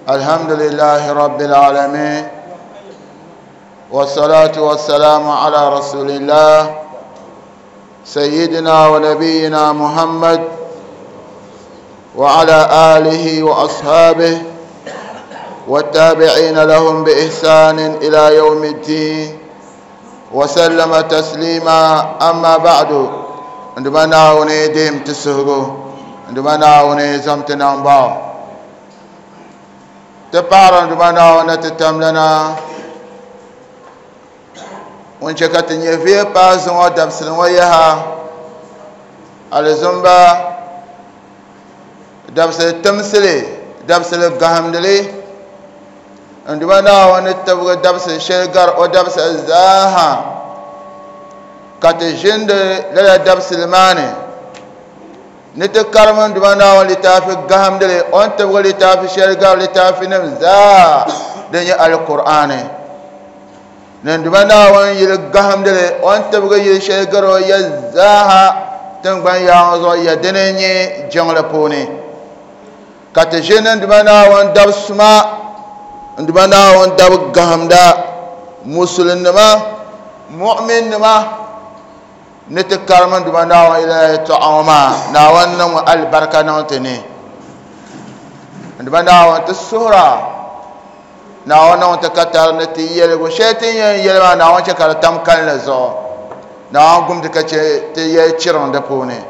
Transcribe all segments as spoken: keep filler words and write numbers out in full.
الحمد لله رب العالمين والصلاة والسلام على رسول الله سيدنا ونبينا محمد وعلى آله وأصحابه والتابعين لهم بإحسان إلى يوم الدين وسلم تسليما. أما بعد، عندما ناوني ديم تسهرو عندما ناوني زمتنا باو تبار عندما ناوني تتملنا ونشكت نيفي بازن ودبسن ويها الزنبا دبسل تمسلي دبسل قهمدلي عندما ناوني تبغى دبسل شلقر ودبسل زاها كتجند لا دبسل ماني نتكرم عندما ناوني لتافي قهمدلي وانت تبغى لتافي شلقر لتافي نمزا دنيا القرآن عندما ناوني يلقهم دلي وانت تبغى يشلقر ويزاها تنبان يا يدنيني جنgle puni katejin عندما ناوني دبسما عندما ناوني دب قهمدا مسلمنما مؤمنما نتكرم عندما ناوني إلى تعاما ناوني البركة نونتني عندما ناوني تسهرا ناوني تكتر نتي يلغو شيتين يلما ناوني شكر تمكن لزو ناوني قم تكتي تيشيرون دبوني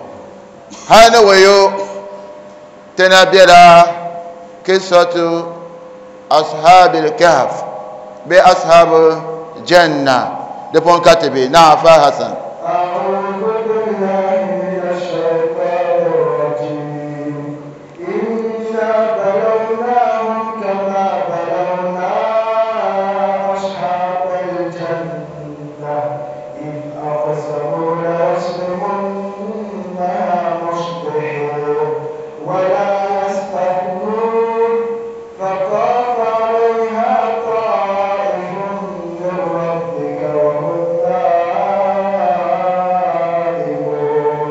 هذا ويو تنبيلا قصة أصحاب الكهف بأصحاب الجنة دبون كاتبي نعم فحسن. أعوذ بالله من الشيطان الرجيم. إنا بلوناهم كما بلونا أصحاب الجنة إذ أقسموا ليصرمنها مصبحين ولا يستثنون فطاف عليها طائف من ربك وهم نائمون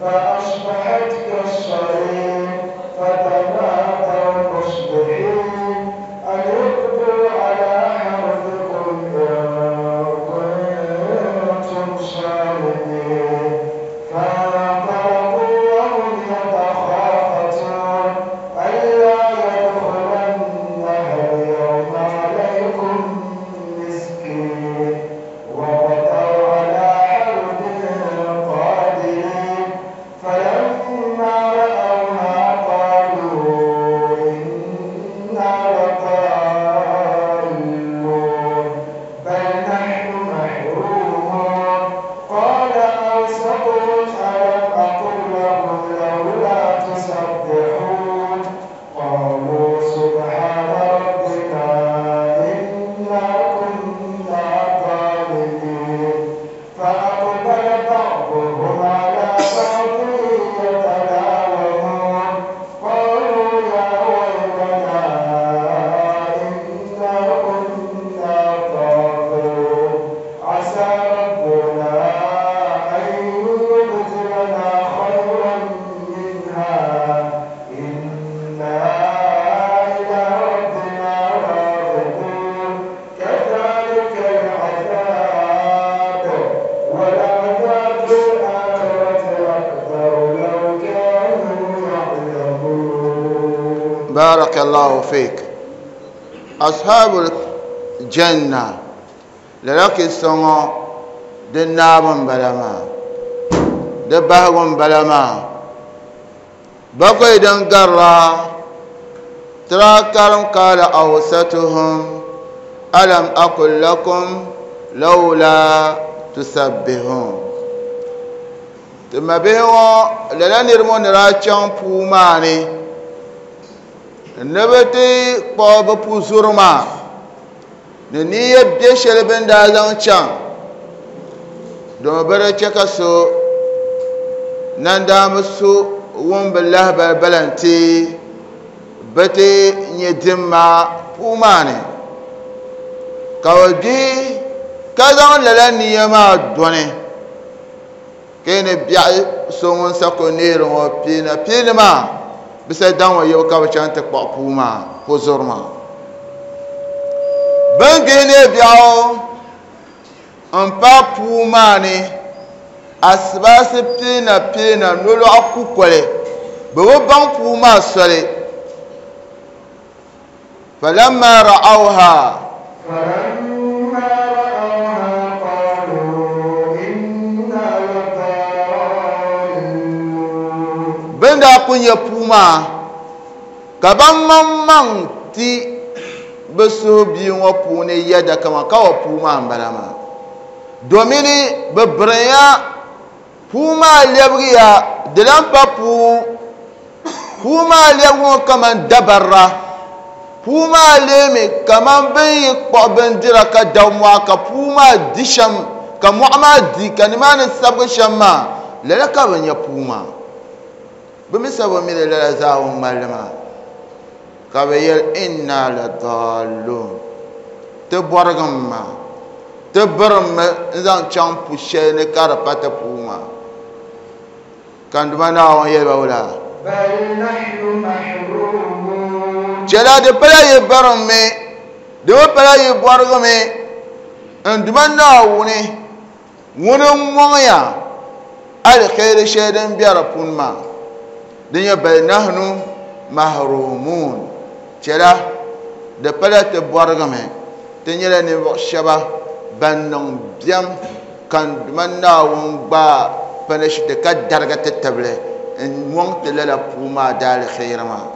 فأصبحت كالصريم فتنادوا مصبحين أن اغدوا على حرثكم إن كنتم صارمين. فانطلقوا وهم يتخافتون ألا يدخلنها اليوم عليكم مسكين وغدوا على حرد قادرين فلما رأوها قالوا إنا لضالون بل نحن محرومون. قال أوسطهم ألم أقل لكم لولا تسبحون قالوا سبحان ربنا إنا كنا ظالمين. فأقبل بعضهم على بعض يتلاومون قالوا يا ويلنا إنا كنا طاغين عسى ربنا أن يبدلنا خيرا منها إنا إلى ربنا راغبون. كذلك العذاب ولعذاب الآخرة أكبر لو كانوا يعلمون. بارك الله فيك. أصحاب الجنة لذلك سنو دنابن بلما دبهغن بلما بقي دنقرا تراكرم قال أوسطهم ألم أقل لكم لولا تسبحون ثم بهو للا نرمون راچان پوماني نبتي قوب پوزورما نية بيشل بن دازان چان دوم بره چکسو نندام سو وون بالله بلنتي بتي ندما پوماني كودي كذا للا نية ما دوني كين بيع سومون سكو نيرو بينا بينا ما Bisa daŋ yɛbu ka bi chaŋ ti kpuɣi puu maa ko zuri maa bin gihi ne biɛɣu n pa puu maa ni asibaasi piina piina nolɔɣu kukoli bi bi baŋ puu maa soli falamma ra'awha فلما رأوها قالوا إنا لضالون bin daa ku nyɛ puu maa ka ban maŋmaŋ ti bi suhu bia ŋɔ puuni yɛda kama ka wa puu maa n bala maa domini bi birinya puu maa lɛbigiya di lan pa puu puu maa lɛbigi ŋɔ kaman dabarra puu maa leemi kaman bin yi kpuɣi bindira ka dabi mɔɣu ka puu maa di shɛm ka mɔɣu maa di ka nimaani sabigi shɛm maa lala ka bi nyɛ puu maa bi mi sabi mi li lala zaa ŋun ŋmalli maa ka bi yɛli inna la dallun ti bɔrigim maa ti birimmi n zaŋ chaŋ pu shɛli ni ka di pa ti puu maa ka n Duuma Naawuni yɛli ba wula بل نحن محرومون chɛla di pala yi birimmi di mi pala yi bɔrigimi n Duuma Naawuni ŋuni n mɔŋya aliheri shɛli din bɛ di puuni maa din nyɛ bal nahnu mahrumun chɛla di pala ti bɔrigimi ti nyɛla ninvuɣu shɛba ban niŋ biɛm ka n Duuma Naawuni gbaai panishiti ka darigi ti tibili n mɔŋ ti lala puu maa daaliheri maa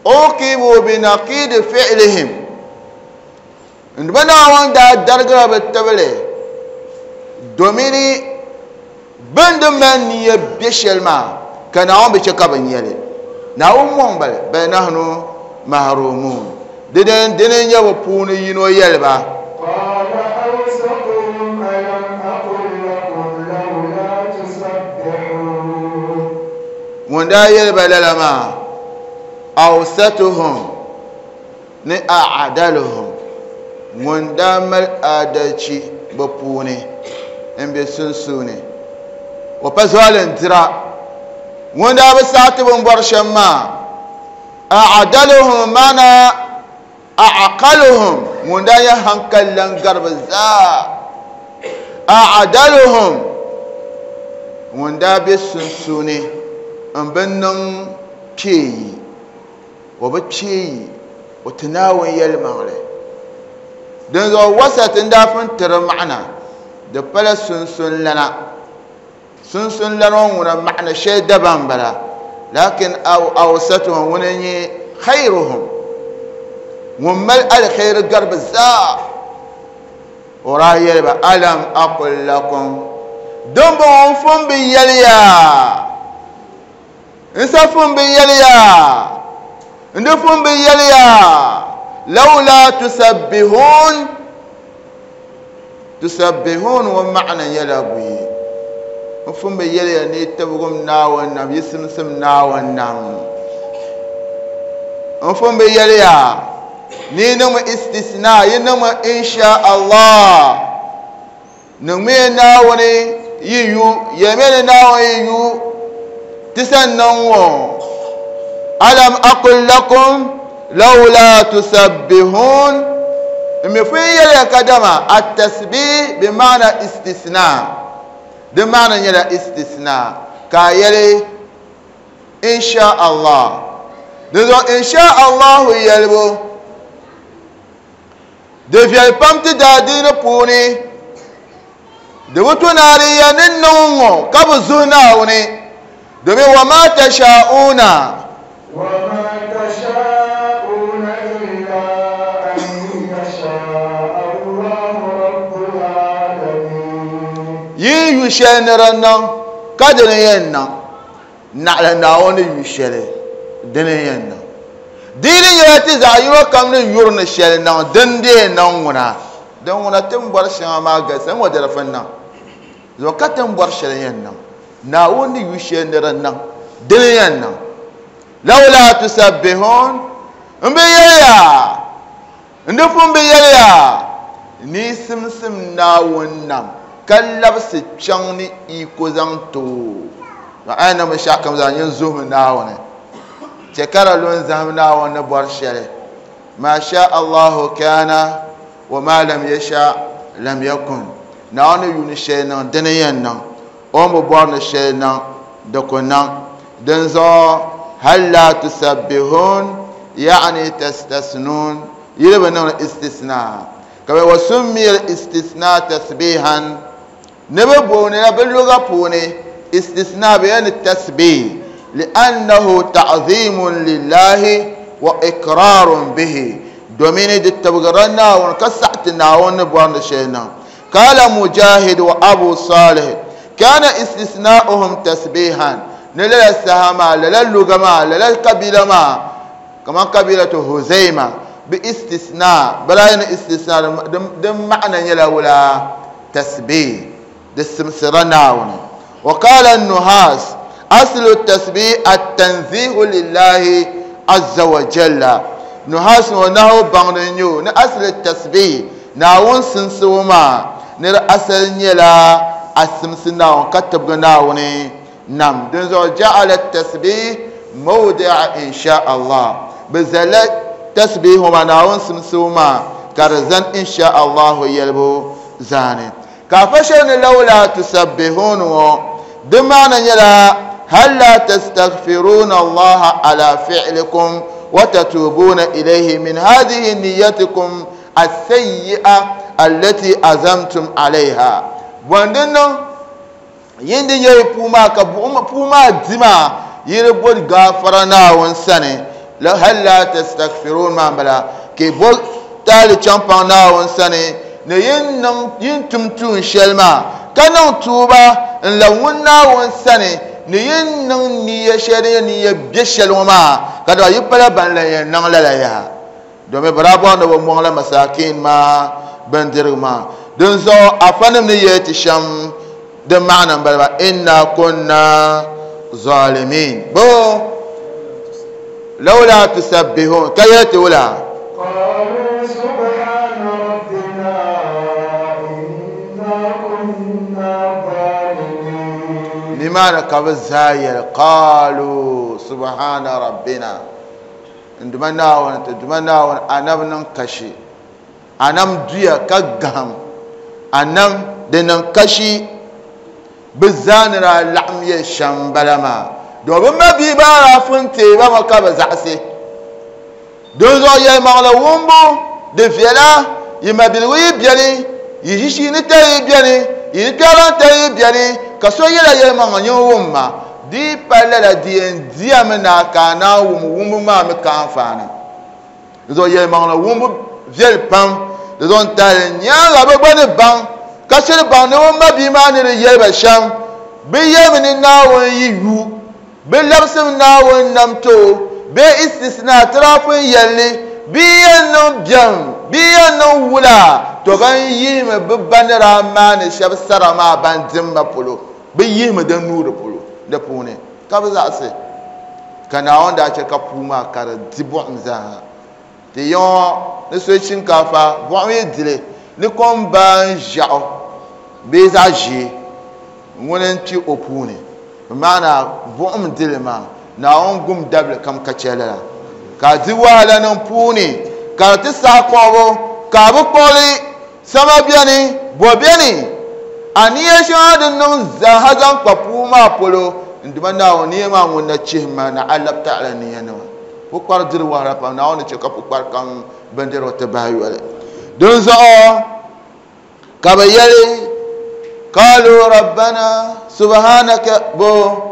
uqibu binaqidi fi'lihim n Duuma Naawuni daa darigira bi tibili domini bin di mali niya bɛ shɛli maa ka Naawuni bi chɛ ka bi nyɛli Naawuni mɔŋ bali bal nahnu mahrumun dini dini n nyɛ bi puuni yino yɛli ba قال أوسطهم ألم أقل لكم لولا تسبحون ŋun daa yɛli ba lala maa awsatuhum ni a'daluhum ŋun daa mali adalci bi puuni n bɛ sunsuuni o pa zualindira ŋun daa bi saɣati bin bɔri shɛm maa a'daluhum maana a'qaluhum ŋun daa nyɛ hankali lan gari bi zaa a'daluhum ŋun daa bɛ sunsuuni n bi niŋ kpeeyi o bi kpeeyi o ti Naawuni yɛlimaŋli dinzuɣu wasat n daa pun tiri maɣana di pala sunsun lana sunsun lana ŋɔ ŋuna maɣana shɛli dabam n bala lakin awsatuhum ŋuni n nyɛ khayruhum ŋun mali alkhairi gari bi zaa o daa yɛli ba alam aqul lakum din bɔŋɔ n fun bi yɛli ya n sa fun bi yɛli ya n di fun bi yɛli ya lawla tusabbihun tusabbihun ŋɔ maɣana nyɛla buyi n fun bi yɛli ya ni tibigim Naawuni nam yi simsim Naawuni nam n fun bi yɛli ya ni niŋmi istisna yi niŋmi insha Allah niŋmi Naawuni yi yu yɛlimi ni Naawuni yi yu ti san niŋ ŋɔ alam aqul lakum lawla tusabbihun n mi fun yɛliya kadama at-tasbih bi maana istisna di maana nyɛla istisna ka a yɛli insha Allah dinzuɣu insha Allahu yɛlibu di viɛli pam ti daadiini puuni di bi tu naari ya ni niŋ ŋɔ ka bi zuhi Naawuni domin wa ma tasha'una وما تشاءون إلا أن يشاء الله رب العالمين yi yu shɛli ni di niŋ ka dini yɛn niŋ naɣila Naawuni ni yu shɛli dini yɛn niŋ diini nyɛla ti zaɣ yino kam ni yuri ni shɛli niŋ din dee niŋ ŋuna din ŋuna ti ni bɔri shɛŋa maa galisi n ŋɔ di di fin niŋ zuɣu ka ti ni bɔri shɛli yɛn niŋ Naawuni ni yu shɛli ni di niŋ dini yɛn niŋ lawla tusabbihun n bi yɛliya n di pun bi yɛliya ni simsim Naawuni nam ka labisi kpɛŋ ni iko zaŋ ti o Ma ayi niŋ binshaɣu kam zaa nyin zuhimi Naawuni. Chɛ ka di lu n-zahim Naawuni ni bɔri shɛli. Ma sha Allahu kana wa ma lam yasha lam yakun. Naawuni yuuni shɛli niŋ dini yɛn niŋ. O ni bi bɔri ni shɛli niŋ di ku niŋ. Dinzuɣu hal la tusabbihun yaani tastasnun yili bi niŋdi istisna. Ka bɛ wa summiya istisna tasbihan. Ni bi booni la bi luga puuni istisna bi yɛn ni tasbih li'annahu ta'zimun lillahi wa ikrarun bihi. Domini di tibgira Naawuni ka saɣati Naawuni ni bɔri ni shɛli niŋ. Qala Mujahid wa Abu Salih kana istisna'uhum tasbihan. Ni lala saha maa, lala luga maa, lala kabila maa, kaman kabilatu Huzaima bi istisna, bala ni istisna din ma'ana nyɛla wula tasbih di simsira Naawuni. Wa qala an-Nuhas aslu at-tasbih at-tanzihu lillahi azza wa jalla. Nuhas ŋɔ nahu baŋdi n-nyɛ o ni asli at-tasbih Naawuni simsibu maa ni di asali nyɛla a simsi Naawuni ka tibigi Naawuni nam. Dinzuɣu ja'ala at-tasbih mawdi'a insha Allah. Bi zalla tasbih maa Naawuni simsibu maa ka di zani insha Allahu yɛlibu zaani. Ka afa shɛli ni lawla tusabbihun ŋɔ di maana nyɛla hal la tastaghfiruna Allaha ala fi'likum wa tatubuna ilayhi min hadhihi niyyatikum as-sayyi'a allati azamtum alayha. Bɔndi niŋ yin di nyɛ puu maa ka buɣum puu maa di maa yi di bori gaafara Naawuni sani. La hal la tastaghfirun maa m-bala ka bo taali chaŋ paŋ Naawuni sani ni yin niŋ yin tum tuun shɛli maa ka niŋ tuuba n labi ŋun Naawuni sani ni yin niŋ niya shɛli din nyɛ niya bɛ shɛli ŋɔ maa ka dama yi pala ban lan yɛn niŋ lala yaha. Domin bɛ daa bɔri ni bɛ mɔŋ la masakin maa bindirigu maa. Dinzuɣu afanim ni yɛli ti shɛm din maana m-bala maa inna kunna zalimin. Bo lawla tusabbihun ka yɛli ti wula. قالوا سبحان ربنا إنا كنا ظالمين. Nimaani ka bɛ zaa yɛli qaalu subhana rabbina. N duma Naawuni ti duma Naawuni anam niŋ kashi. Anam duya ka gaham. Anam di niŋ kashi. Bɛ zaa ni daa laɣim yɛli shɛm m-bala maa. Domin bɛ ma bia baa daa fun teei ba ŋɔ ka bɛ zaɣisi. Dinzuɣu yɛlimaŋli wumbu di viɛla, yi mabiligu yi beni, yi ʒishiinitali yi beni, yi kpɛriŋtali yi beni, ka so yɛla yɛlimaŋli nyin wumma. Di yi pa lala di yɛn diyami na ka a naan wum wumbu maa mi ka anfaani. Dinzuɣu yɛlimaŋli wumbu viɛli pam. Di zuɣu n tahili nyaaŋa bɛ gba ni baŋ ka shiri baŋ ni bɛ ma bia maa ni di yɛli ba shɛm. Bɛ yɛlimi ni Naawuni yi yu, bɛ labisimi Naawuni nam ti o, bee istisna tirafin yɛlli, bɛ yɛn niŋ biɛm, bɛ yɛn niŋ wula, to ban yihimi bɛ ba ni daa maani shɛba sara maa ban dimba polo, bɛ yihimi di nuu di polo di puuni ka bɛ zaɣisi. Ka Naawuni daa chɛ ka puu maa ka di di buɣim zaa. Ti yiŋɔ ni so shinkaafa buɣim yi dili ni kom baa n-ʒiɛɣu bee zaɣ ʒee ŋuni n-kpi o puuni. Maana buɣim dili maa Naawuni gum dabili kam ka chɛ lala. Ka di wahala niŋ puuni ka di ti saɣi kpuɣibu ka bi kpuɣili sama beni bo beni. A niya shɛŋa din niŋ zaaha zaŋ kpa puu maa polo n duma Naawuni niya maa ŋun na chihi ma na alab taɣala niya nima. Pukpari diri wahala pam Naawuni ni chɛ ka pukpari kam bindirigu ti bahi yoli. Dinzuɣu ka bɛ yɛli qaalu rabbana subhanaka bo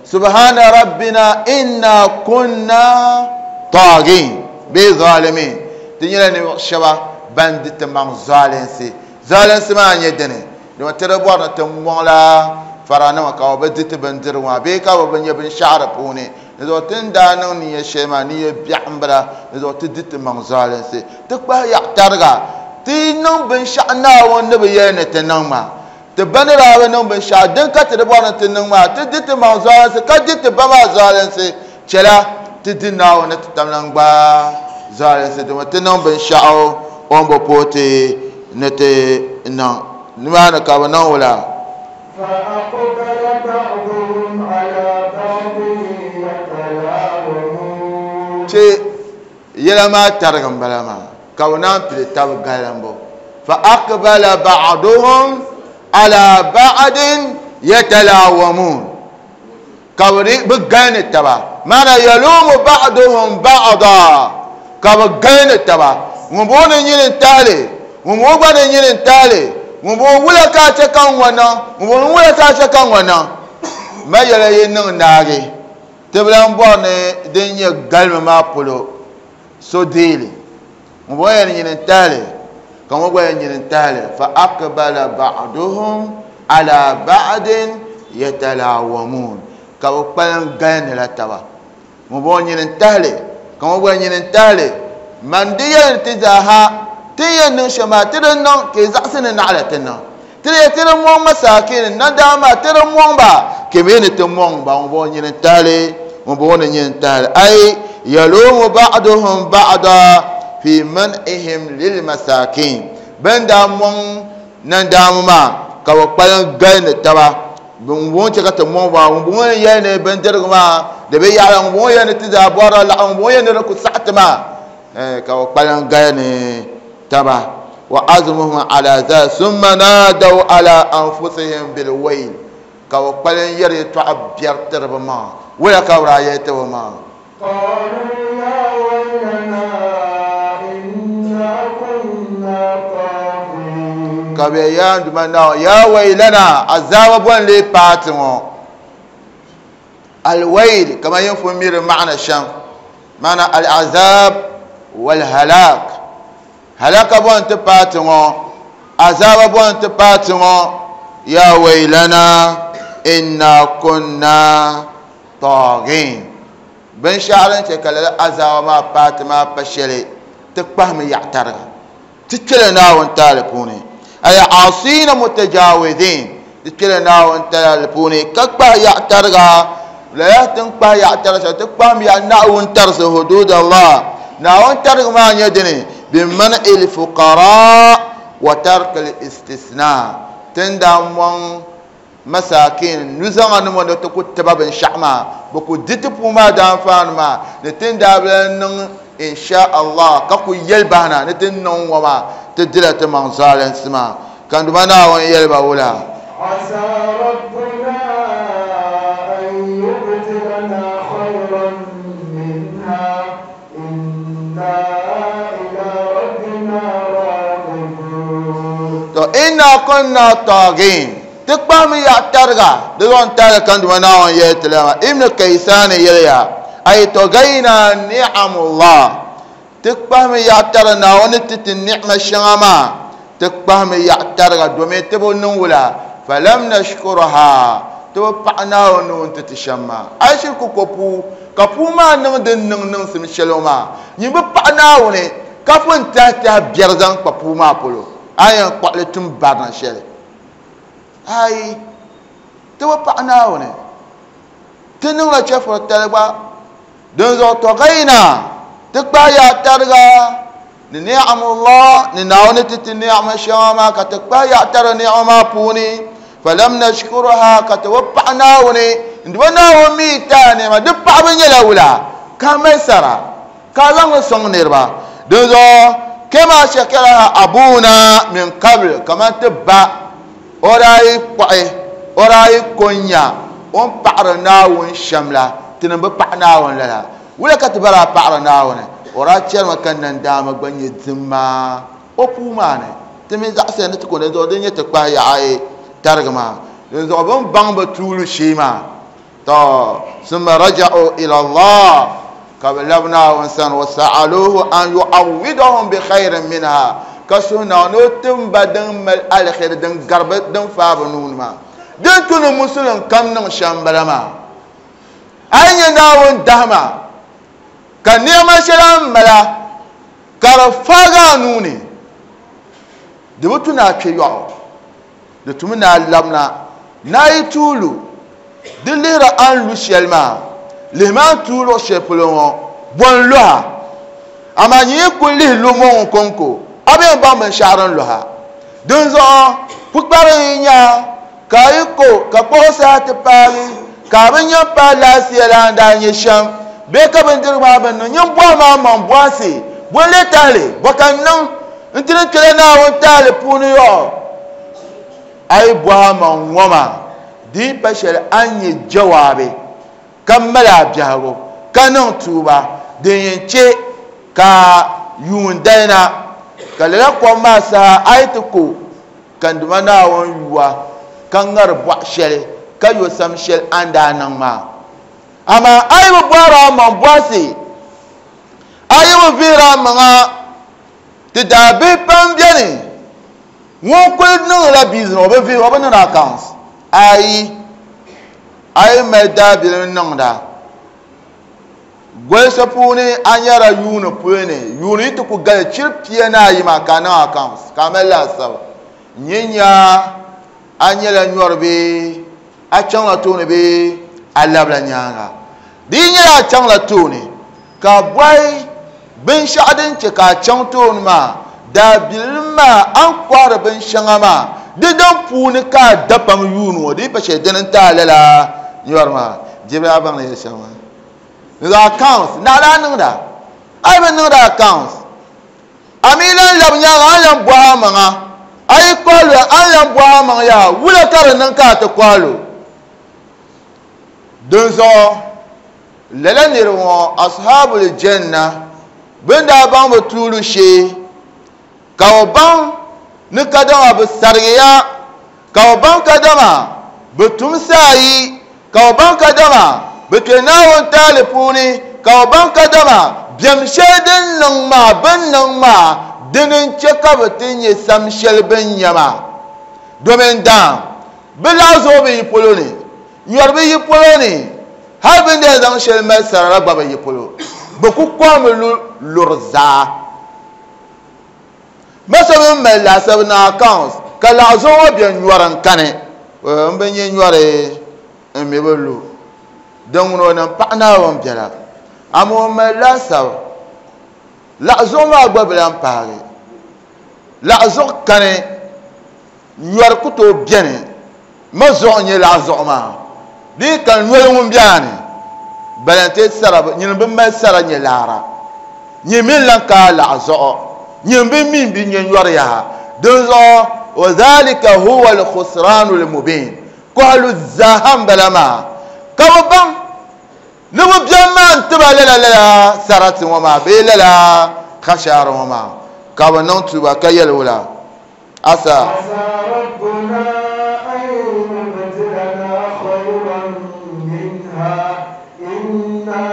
subhana rabbina inna kunna tagin bee zalimin. Ti nyɛla ninvuɣu shɛba ban di ti maŋ zalinsi. Zalinsi maa nyɛ dini. Domin ti di bɔri ni ti mɔŋ la faranima ka bɛ di ti bindirigu maa bee ka bɛ bi nyɛ binshaɣu di puuni. Di zuɣu ti ni daa niŋ niya shɛli maa niya biɛɣu m-bala. Di zuɣu ti di ti maŋ zalinsi. Ti kpahi yaɣa tariga. Ti niŋ binshaɣu Naawuni ni bi yɛli ni ti niŋ maa. Ti ba ni daa bi niŋ binshaɣu din ka ti di bɔri ni ti niŋ maa. Ti di ti maŋ zalinsi ka di ti ba maa zalinsi. Chɛla ti di Naawuni ni ti tam lan gba zalinsi. Domin ti niŋ binshaɣu o ni bi pooi ti ni ti niŋ. Nimaani ka bɛ niŋ wula. فأقبل بعضهم she yɛla maa tarigi n bala maa ka bi naan pili tabi galimbu fa aqbala ba'duhum ala ba'din yatalawamun ka bi galini taba maana yalumu ba'duhum ba'da ka bi galini taba ŋun bɔŋɔ ni nyini n tahali ŋun bɔŋɔ gba ni nyini n tahali ŋun bɔŋɔ wula ka a chɛ ka n ŋɔ niŋ ŋun bɔŋɔ wula ka a chɛ ka n ŋɔ niŋ ma yɛla yi niŋ naagi ti bi lan bɔri ni din nyɛ galimi maa polo so deeli ŋun bɔŋɔ yɛn nyini n tahali ka ŋɔ gba yɛn nyini n tahali fa aqbala ba'duhum ala ba'din yatalawamun ka bi kpalim galinila taba ŋun bɔŋɔ nyini n tahali ka ŋɔ gba nyini n tahali man di yɛn ti zaaha ti yɛn niŋ shɛm maa ti di niŋ ka yi zaɣisi ni naɣila ti niŋ ti di ti di mɔŋ masaakini nadaama maa ti di mɔŋ ba ka mi ni ti mɔŋ ba ŋun bɔŋɔ nyini n tahali ŋun bɔŋɔ ni nyini n tahali ay yalumu ba'duhum ba'da fi man'ihim lil masakin bin daa mɔŋ nandaama maa ka bi kpalim galini taba ŋun bɔŋɔ chɛ ka ti mɔŋ ba ŋun bɔŋɔ ni yɛli ni bindirigu maa di bi yaɣila ŋun bɔŋɔ yɛli ni ti zaa bɔrila laɣim ŋun bɔŋɔ yɛli ni di ku saɣi ti maa ka bi kpalim galini taba wa azmuhum ala za summa nadaw ala anfusihim bil wayl ka bi kpalim yɛri yɛltɔɣa biɛri tiri bi maŋa wula ka bi daa yɛli ti bi maŋa قالوا يا ويلنا إنا كنا طاغين ka bɛ yaa duma na ya waylana azaba bon le paati ŋɔ alwayl kama yin fun miri ma'ana sham ma'ana al'azab wal halak halaka bon ti paati ŋɔ azaba bon ti paati ŋɔ ya waylana inna kunna taghin binshɛɣu din chɛ ka lala azaba maa paati maa pa shɛli ti kpahimi yaɣa tariga ti kpɛla Naawuni taali puuni ay asina mutajawizin ti kpɛla Naawuni taali puuni ka kpahi yaɣa tariga lala tin kpahi yaɣa tariga shɛli ti kpahimi yaɣa Naawuni tarisi hudud Allah Naawuni tariga maa nyɛ dini biman'i l-fuqara wa tarki l-istisna tin daa mɔŋ masakin nuzaŋa nima ni ti ku tiba binshaɣu maa bi ku di ti puu maa daanfaani maa ni tin daa bi lan niŋ insha Allah ka ku yɛli bahina ni ti niŋ ŋɔ maa ti dila ti maŋ zaalinsi maa ka n Duuma Naawuni yɛli ba wula عسى ربنا أن يبدلنا خيرا منها إنا إلى ربنا راغبون to inna kunna taghin ti kpahimi yaɣa tariga di zaŋ tariga ka n Duuma Naawuni yɛli ti la maa Ibn Kaysan yɛliya ay tagayna ni'amullah ti kpahimi yaɣa tariga Naawuni ti ti ni'ma shɛŋa maa ti kpahimi yaɣa tariga domin ti bi niŋ wula falam nashkurha ti bi paɣi Naawuni ni ŋun ti ti shɛm maa a yi shiri ku ko puu ka puu maa niŋ din niŋ niŋsim shɛli ŋɔ maa nyin bi paɣi Naawuni ka pun tahi tahi biɛri zaŋ kpa puu maa polo a yɛn kpuɣili tum barina shɛli ai ti bi paɣi Naawuni ti niŋla chɛfuri tali gba dinzuɣu tɔgayna ti kpahi yaɣa tariga ni ni'amullah ni Naawuni ti ti ni'ama shɛŋa maa ka ti kpahi yaɣa tariga ni'ama maa puuni falam nashkuruha ka ti bi paɣi Naawuni n Duuma Naawuni mi taai ni'ima di paɣabu nyɛla wula ka mali sara ka zaŋ li sɔŋ niriba dinzuɣu kama shakaraha abuna min qabl kaman ti ba o daa yi kpuɣi o daa yi ko n-nya o ni paɣiri Naawuni shɛm la tinim bi paɣi Naawuni lala wula ka ti ba daa paɣiri Naawuni o daa chɛrimi ka nandaama gba nyɛ dimma o puu maa ni ti mi zaɣisiya ni ti ko dinzuɣu din nyɛ ti kpahi yaɣa tarigi maa dinzuɣu bɛ ni baŋ bi tuuli shee maa to summa raja'u ila Allah ka bi labi Naawuni sani wa sa'aluhu an yu'awwidahum bi khayrin minha ka suhi Naawuni ni o tim ba din mali alheri din gari bi din faai bi nuuni maa din tu ni musulin kam niŋ shɛm bala maa a yi nyɛ Naawuni dahima ka nɛma shɛli a ni mala ka di faagi a nuuni di bi tu ni a kpe yɔɣu di tumi ni a labina ni a yi tuuli di lihiri a ni lu shɛli maa lihimi a ni tuui luɣu shɛli polo ŋɔ bɔ n lɔha amaa nyin yi ku lihi lu mɔŋ kɔŋko a bi yɛn baŋ binshaɣu din lɔha dinzuɣu pukpari n nya ka a yi ko ka kpuɣi saha ti paagi ka a bi nya paai laasiya la ni daa nyɛ shɛm Bee ka bindirigu maa bi niŋ nyin bɔhi maa maŋ bɔhisi bɔn lee tahili bɔ ka n niŋ n ti ni kpɛla Naawuni tahili puuni yɔɣɔ a yi bɔhi maŋ ŋɔ maa di yi pa shɛli a ni nyɛ jawaabi ka mali a biɛhigu ka niŋ tuuba din yɛn chɛ ka yuun dayina ka lala kom maa saha a yi ti ko ka n Duuma Naawuni yuwa ka ŋari bɔɣu shɛli ka yo sam shɛli a ni daa niŋ maa amaa a yi bi bɔhiri a maŋ bɔhisi a yi bi vihiri a maŋa ti daa bihi pam beni ŋun kuli niŋla business o bi vihi o bi niŋdi accounts ayi a yi mali daabilim niŋda golisi puuni a nyɛla yuuni puuni yuuni yi ti ku gali chiri pia ni ayi maa ka a niŋ accounts ka a mali laasabu nyɛ nya a nyɛla nyɔri bee a chaŋla tooni bee a labila nyaanga di yi nyɛla a chaŋla tooni ka bɔhi binshɛɣu din chɛ ka a chaŋ tooni maa daabilim maa a ni kɔhiri binshɛŋa maa di din puuni ka a da pam yuuni ŋɔ di yi pa shɛli dini n-ti a lala nyɔri maa dibila a baŋ ni yɛli shɛm maa ni accounts naɣila a niŋda a yi bi niŋda accounts a mi lan labi nyaanga a ni lan bɔhi a maŋa a yi kɔhi lo a ni lan bɔhi a maŋ yaa wula ka di niŋ ka a ti kɔhi lo dinzuɣu lala niriba ŋɔ ashabul janna bɛ ni daa baŋ bi tuuli shee ka bi baŋ ni kadama bi sarigiya ka bi baŋ kadama bi tumsi ayi ka bi baŋ kadama bi kpe Naawuni taali puuni ka bi baŋ kadama biɛm shɛli din niŋ maa bin niŋ maa dini n-chɛ ka bi ti nyɛ sam shɛli bin nya maa domin daam bi laɣa zuɣu bi yi polo ni nyɔri bi yi polo ni hali bin ni yɛn zaŋ shɛli mali sara la gba bi yi polo bi ku kɔhimi lu luri zaa masa bin mali laasabu ni accounts ka laɣa zuɣu ŋɔ bɛ nyɔri n kani n bi nyɛ nyɔri n mi bi lu din ŋuni o niŋ paɣa Naawuni biɛla amaa o mali laasabu laɣa zuɣu maa gba bi lan paagi laɣa zuɣu kani nyɔri ku tooi bɛni ma zuɣu n nyɛ laɣa zuɣu maa di yi ka noli ŋun bɛni balante sara nyini bi mali sara nyɛ laara nyini mi lan ka laɣa zuɣu nyini bi mi bi nyɛ nyɔri yaha dinzuɣu wa dhalika huwa al-khusranu al-mubin kɔhilu zaa n bala maa ka bi baŋ ni bi biɛm maa n tiba lala lala sarati ŋɔ maa bee lala kashaari ŋɔ maa ka bi niŋ tuuba ka yɛli wula asa عسى ربنا أن يبدلنا خيرا منها إنا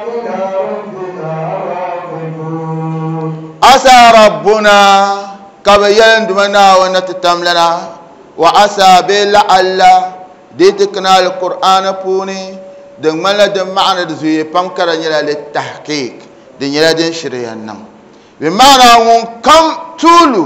إلى ربنا راغبون asa rabbuna ka bi yɛli n Duuma Naawuni ni ti tam lana wa asa bee la'alla di ti kana alqur'ani puuni din ŋmanila din maɣani di zuɣuya pam ka di nyɛla li tahqiq di nyɛla din shiri yɛn niŋ bi maana ŋun kam tuulu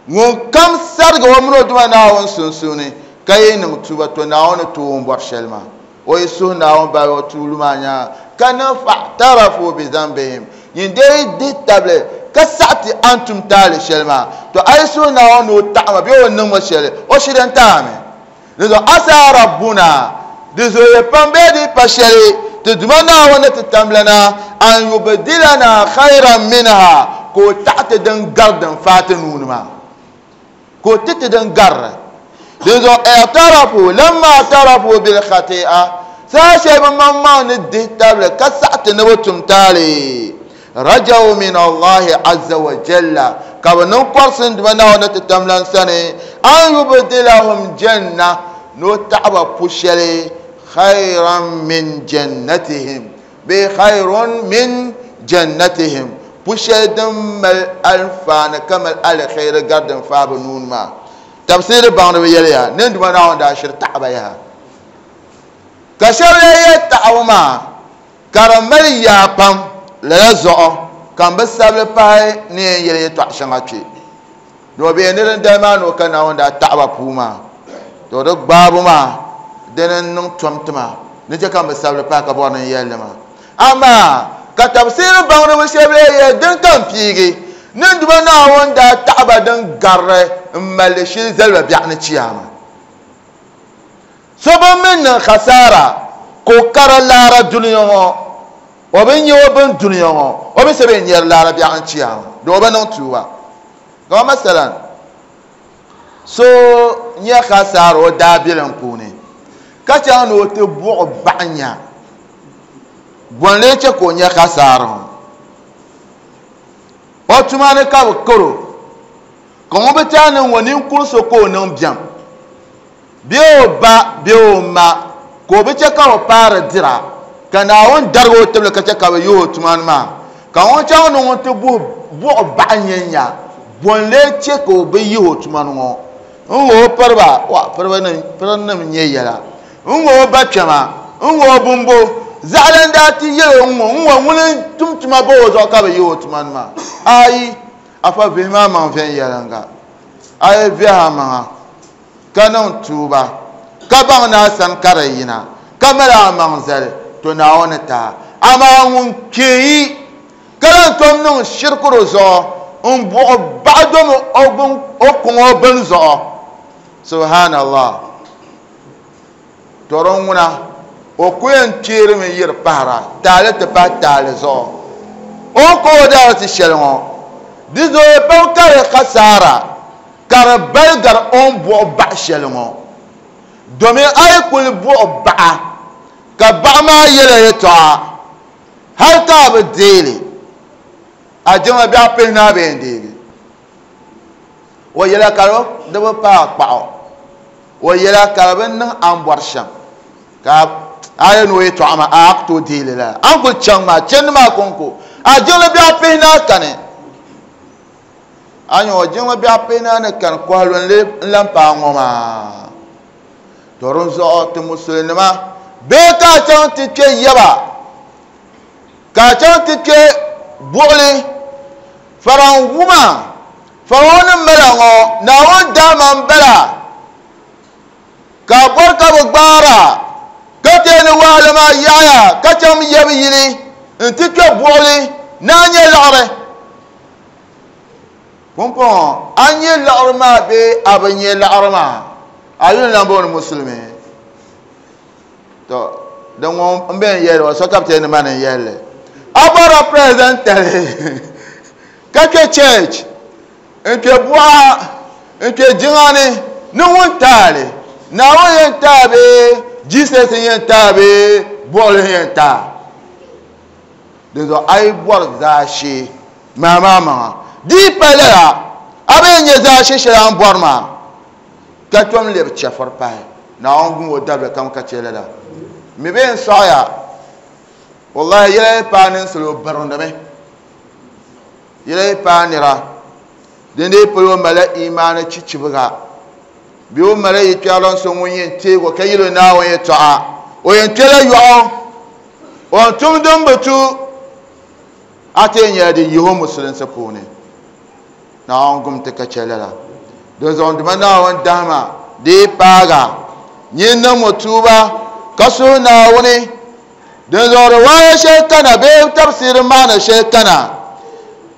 ŋun kam sarigi o mini o Duuma Naawuni sunsuuni ka yi niŋ tuuba to Naawuni tooi o ni bɔri shɛli maa o yi suhi Naawuni bahi o tuulu maa nyaanga ka niŋ fa'tarafu bi dhanbihim nyin dee yi dihi tabili ka saɣati a ni tum taali shɛli maa to a yi suhi Naawuni ni o taɣima bee o niŋmi shɛli o shiri n taami dinzuɣu asa rabbuna di zooya pam bee di pa shɛli ti Duuma Naawuni ni ti tamlana an yubdilana khayran minha ka o taɣi ti din gari din faai ti nuuni maa ka o ti ti din garili dinzuɣu i'tarafu lamma i'tarafu bil khati'a saha shɛli bi maŋmaŋ ni dihi tabili ka saɣati ni bi tum taali rajaw min Allahi azza wa jalla ka bi niŋ kɔrisi n Duuma Naawuni ni ti tamlan sani an yubdilahum janna ni o taɣiba pu shɛli khayran min jannatihim bee khayrun min jannatihim pu shɛli din mali alfaani ka mali alkhairi gari din faai bi nuuni maa tafsiri baŋdiba yɛliya ni n Duuma Naawuni daa shiri taɣiba yaha ka shɛba lee yɛli taɣibu maa ka di mali yaa pam lala zuɣu ka n bi sabili pahi ni yɛn yɛli yɛltɔɣa shɛŋa kpɛ ni o bee ni din dali maa ni o ka Naawuni daa taɣiba puu maa to di gbaabu maa dini n niŋ tom tima ni chɛ ka n bi sabili pahi ka bɔri ni n yɛlli maa amaa ka tafsiri baŋdiba shɛba lee yɛli din ka n piigi ni n Duuma Naawuni daa taɣiba din garili n malli shili zaliba biɛɣu ni chiyaama so bi mi niŋ khasaara ka o kara laara dunia ŋɔ O bi nyɛ o bin dunia ŋɔ o bi sebe nyɛri laara biɛɣu n chiya do o bi niŋ tuuba kama masalan so nyɛ khasaara o daabilim puuni ka chaŋ ni o ti buɣi baɣa nya bɔn lee che ka o nyɛ khasaara ŋɔ o tuma ni ka bi karo ka ŋun bi taa niŋ ŋɔ ninkuri so ka o niŋ biɛm bee o ba bee o ma ka o bi che ka o paari dira ka Naawuni darigi o tibili ka che ka bi yihi o tuma ni maa ka ŋun chaŋ ni ŋun ti buɣi baɣa nyɛ nya bɔn lee che ka o bi yihi o tuma ni ŋɔ n ŋɔ o piriba wa pirinim nyɛ yɛla n ŋɔ o ba kpɛma n ŋɔ o bumbo zaɣali n daa ti yɛli o ŋɔ n ŋɔ ŋuni tum tuma ba o zuɣu ka bi yihi o tuma ni maa ayi afa vihi maa maŋ viɛnyɛliŋga a yi viɛhi a maŋa ka niŋ tuuba ka baŋ ni a sani ka di yina ka mali a maŋ zali to Naawuni taa amaa ŋun kpeeyi ka lan tom niŋ shirikuru zuɣu n buɣi baɣa domi o kuŋ o bini zuɣu subhanallah to din ŋuna o ku yɛn kpeerimi yiri pahara taali ti pahi taali zuɣu o ka o daari ti shɛli ŋɔ di zooi pam ka di khasaara ka di bali gari o ni buɣi baɣa shɛli ŋɔ domin a yi kuli buɣi baɣa ka baɣa maa yɛla yɛltɔɣa hali ka a bi deeli a jiŋli biɛɣu pihinahi bee n deegi o yɛla ka di bi paai kpaɣu o yɛla ka di bi niŋ a ni bɔri shɛm ka a yɛn ni o yɛltɔɣa maa a ku tooi deeli lala a ni kuli chaŋ maa chɛndi maa konko a jiŋli biɛɣu pihinahi kani a nyɛ o jiŋli biɛɣu pihinahi ni kani kɔhilu n lan paai ŋɔ maa to din zuɣu ti musulinima bee ka a chaŋ ti kpe yaba ka a chaŋ ti kpe buɣuli faranwuma faranwuni n bala ŋɔ Naawuni daama n bala ka a bɔri ka bi gbaara ka tee ni wahala maa yaɣaya ka chaŋ yabi yili n ti kpe buɣuli ni a nyɛ laɣiri pumpɔŋɔ a nyɛ laɣiri maa bee a bi nyɛ laɣiri maa a yuli lan booni musulimi to din ŋɔ n bɛn yɛli o so ka bi tee ni ma ni yɛlli a bɔrila president tali ka kpe church n kpe buɣa n kpe jiŋa ni ni ŋun taali Naawuni yɛn taa bee Jesus yɛn taa bee buɣuli yɛn taa din zuɣu a yi bɔri zaashee maa maa maŋa di yi pa lala a bi yɛn nyɛ zaashee shɛli a ni bɔri maa ka tom lebi chɛfuri pahi Naawuni gum o dabili kam ka che lala mi bee n sɔɣiya wallahi yɛla yi paai ninsali o birindimi yɛla yi paai nira din dee polo o malila imaani chichibiga bee o malila yikpɛrilan so ŋun yɛn teego ka yɛli o Naawuni yɛltɔɣa o yɛn kpɛla yɔɣu o ni tum din bi tu a ti yɛn nyɛla di yihi o musulinsi puuni Naawuni gum ti ka che lala din zuɣu dima Naawuni dahima di yi paaga nyin niŋ mo tuuba ka suhi Naawuni din zuɣu riwaaya shɛli kana bee tafsiri maana shɛli kana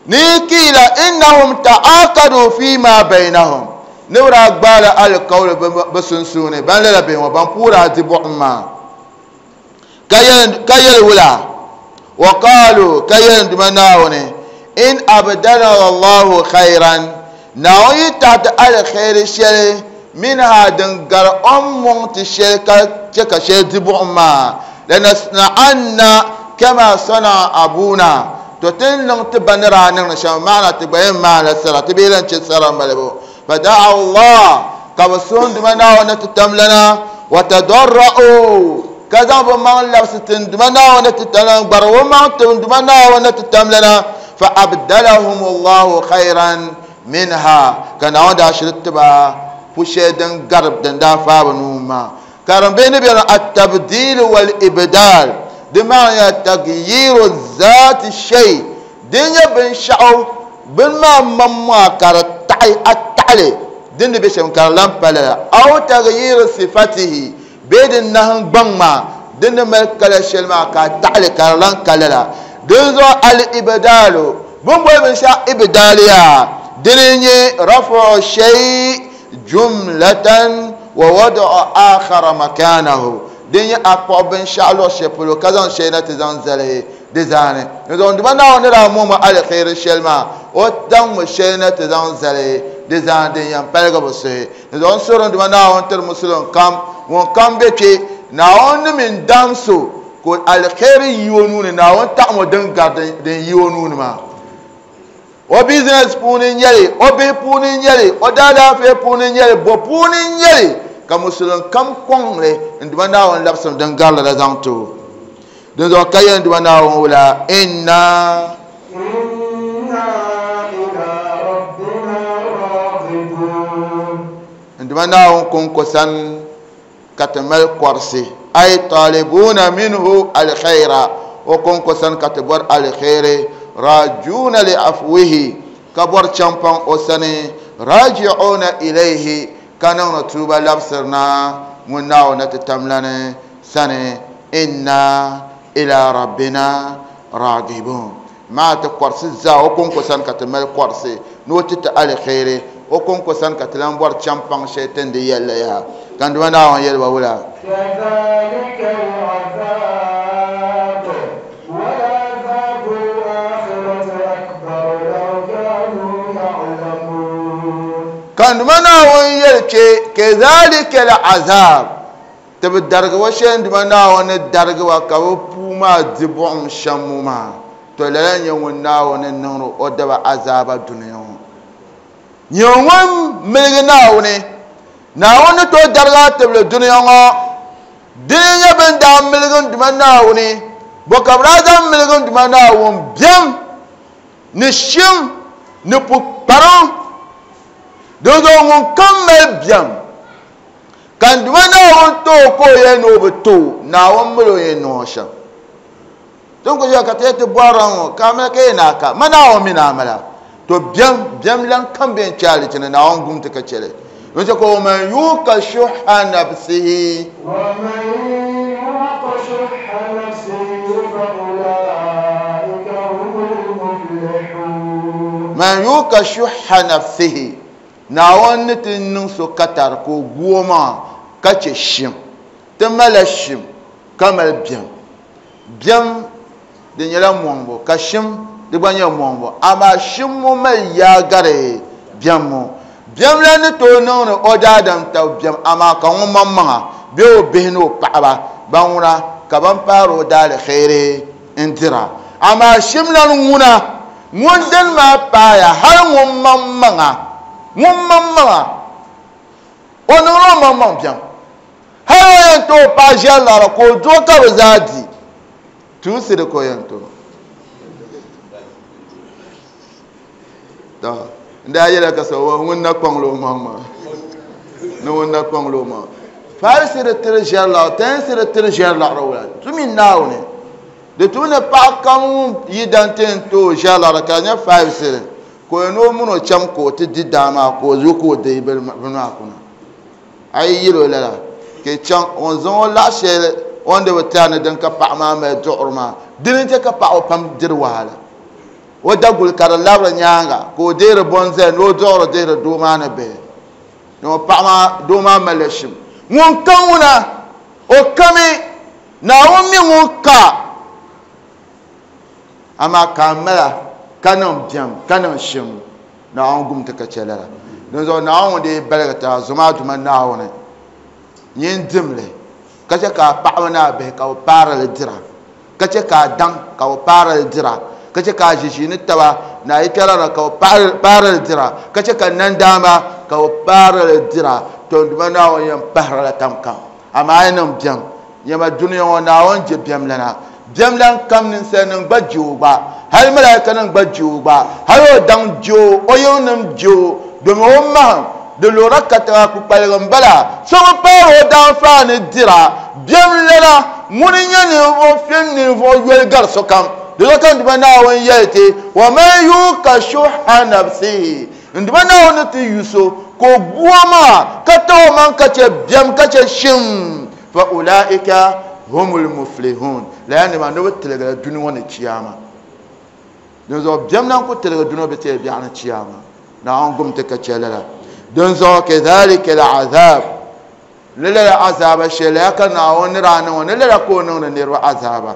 ni kiila innahum ta'aqadu fima bainahum ni bi daa gbaala alikawli bi sunsuuni ban lala bihi ŋɔ ban puuri a di buɣum maa ka yɛli wula wa qaalu ka yɛli duma Naawuni in abdalana Allahu khayran Naawuni yi taɣati alkhairi shɛli minha din gari o ni mɔŋ ti shɛli ka che ka shɛli di buɣum maa lanasna'anna kama sana'a abuna to ti niŋ ti ba ni daa niŋdi shɛm maana ti gba yɛn maanila sara ti bee lan che sara malibu fada'a Allah ka bi suhi duma Naawuni ti tam lana wa tadarra'u ka zaŋ bi maŋ labisi tin duma Naawuni ti tam lana gbari o maŋ tin duma Naawuni ti tam lana fa abdalahum Allahu khayran minha ka Naawuni daa shiri tiba pu shɛli din gari din daa faai bi nuu maa ka din bɛ ni bɛni at-tabdil wal ibdal di maa nyɛla taghyiru zaati shay din nyɛ binshaɣu bini maa maŋmaŋa ka di taɣi a taɣali din ni bɛ shɛm ka di lan pa lala aw taghyiru sifatihi bee di nahangbaŋ maa din ni mali kala shɛli maa ka a taɣali ka di lan ka lala din zuɣu al-ibdalu bin boli binshaɣu ibdaliya dini nyɛ rafu shay jumlatan wa wada'u akhara makanahu Din nyɛ a kpuɣi binshaɣu luɣu shɛli polo ka zaŋ shɛli na ti zaŋ zali di zaani. Dinzuɣu Duuma Naawuni ni daa momi aliheri shɛli maa o zaŋmi shɛli na ti zaŋ zali di zaani din yɛn paligi bi suhi. Dinzuɣu n suhuri Duuma Naawuni tiri musulin kam ŋun kam be kpe Naawuni ni mini dam so ka aliheri yi o nuu ni Naawuni taɣamo din gari din yi o nuu ni maa. O business puuni n-nyɛli, o bihi puuni n-nyɛli, o daalaafee puuni n-nyɛli, bo puuni n-nyɛli ka musulin kam kɔŋli n Duuma Naawuni labisimi din garili la zaŋ ti o. Dinzuɣu ka yɛli n Duuma Naawuni wula inna n Duuma Naawuni kɔŋko sani ka ti mali kɔrisi ay talibuna minhu alkhaira o kɔŋko sani ka ti bɔri alkhairi rajuna li afwihi ka bɔri champaŋ o sani raji'una ilayhi ka niŋdi tuuba labisirina ŋun Naawuni ti tamlani sani inna ila rabbina ragibun. Maa ti kɔrisi zaa o kɔŋko sani ka ti mali kɔrisi ni o ti ti alkhairi o kɔŋko sani ka ti lan bɔri champaŋ shɛli ti ni di yɛlli yaha. Ka n Duuma Naawuni yɛli ba wula? Ka n Duuma Naawuni yɛli kpe kazalika al-azab ti bi darigi wa shɛli n Duuma Naawuni ni darigi wa ka bi puu maa di buɣum shɛm ŋɔ maa to lala n-nyɛ ŋun Naawuni niŋdi o daba azaaba dunia ŋɔ. Nyɛ ŋun miligi Naawuni Naawuni ni tooi darigi a tibili dunia ŋɔ dini nyɛ bin daa miligi n Duuma Naawuni bɔ ka bi daa zaŋ miligi n Duuma Naawuni biɛm ni shim ni pukpariŋ. Dinzuɣu ŋun kam mali biɛm ka n Duuma Naawuni tooi ka o yɛli ni o bi tooi Naawuni mali o yɛn niŋ o shɛm. Tin ku ʒiya ka ti yɛli ti bɔrila ŋɔ ka a mali ka yɛn ni a ka ma Naawuni mi ni a mala to biɛm biɛm lan kam bɛ n kpe alichini Naawuni gum ti ka chɛli. N chɛ ka o man yuka shuhha nafsihi man yuka shuhha nafsihi Naawuni ni ti niŋ so katari ka o gu o maŋa ka chɛ shim. Ti malila shim ka mali biɛm. Biɛm di nyɛla mɔŋbu ka shim di gba nyɛ mɔŋbu amaa shim ŋɔ mali yaa gari biɛm ŋɔ. Biɛm la ni tooi niŋdi o daadam tabi biɛm amaa ka ŋun maŋmaŋa bee o bihi ni o paɣaba ban ŋuna ka ban paari o daaliheri n dira amaa shim lan ŋuna ŋun dini maa paaya hali ŋun maŋmaŋa ŋun maŋmaŋa o niŋla o maŋmaŋ biɛm hali o yɛn tooi paai ʒɛri laɣiri ka o duɣi ka bi zaa di tuusi di ka o yɛn tooi. To n daa yɛla ka so ŋun na kpaŋla o maŋ maa ni ŋun na kpaŋla o maŋ five cedi tiri ʒɛri laɣiri ten cedi tiri ʒɛri laɣiri wula tumi Naawuni di tu ni paɣa kam ŋun yi dan ti yɛn tooi ʒɛri laɣiri ka di nyɛ five cedi ka o yɛn o mini o cham ka o ti di daa maa ka o zo ka o deei bini maa kuna a yi yɛli o lala ka chaŋ o zaŋ o laɣa shɛli o ni di bi tari ni din ka paɣa maa mali duɣuri maa dini n-chɛ ka paɣaba pam diri wahala o daguli ka di labiri nyaanga ka o deeri bɔnzali ni o duɣuri dihiri doo maa ni bihi ni o paɣa maa doo maa malila shim. Ŋun ka ŋuna o kami Naawuni mi ŋun ka amaa ka a mala ka niŋ biɛm ka niŋ shim Naawuni gum ti ka chɛ lala. Dinzuɣu Naawuni dee baligi ti a zoma a Duuma Naawuni nyin dimli ka chɛ ka a paɣaba ni a bihi ka bi paari li dira ka chɛ ka a daŋ ka bi paari li dira ka chɛ ka a ʒiʒiini taba ni a yikpɛra ka bi paari li dira ka chɛ ka nandaamba ka bi paari li dira to n Duuma Naawuni yɛn pahirila tam kam amaa a yi niŋ biɛm nyɛma dunia ŋɔ Naawuni je biɛm lana biɛm lan kam ninsalinima gba je o gba hali malaikanima gba je o gba hali o daŋ je o o yiŋnima je o domi o mahim di lora katiŋa kpukpaligi n-bala so bi paari o daanfaani dira biɛm lana ŋuni n-nyɛ ninvuɣ fim ninvuɣ yoli gari sokam. Di zuɣu ka n Duuma Naawuni yɛli ti wa man yuka shuhha nafsihi n Duuma Naawuni ni ti yu so ka o gu o maŋa ka taɣi o maŋ ka chɛ biɛm ka chɛ shim fa ulaika humul muflihun lala nima ni bi tiligila dunia ŋɔ ni chiyaama. Dinzuɣu biɛm lan ku tiligi dunia bi tiri biɛɣu ni chiyaama Naawuni gum ti ka chɛ lala. Dinzuɣu kadhalika al-azab Lala azaba shɛli ya ka Naawuni ni daa niŋ o ni lala ka o niŋdi niriba azaba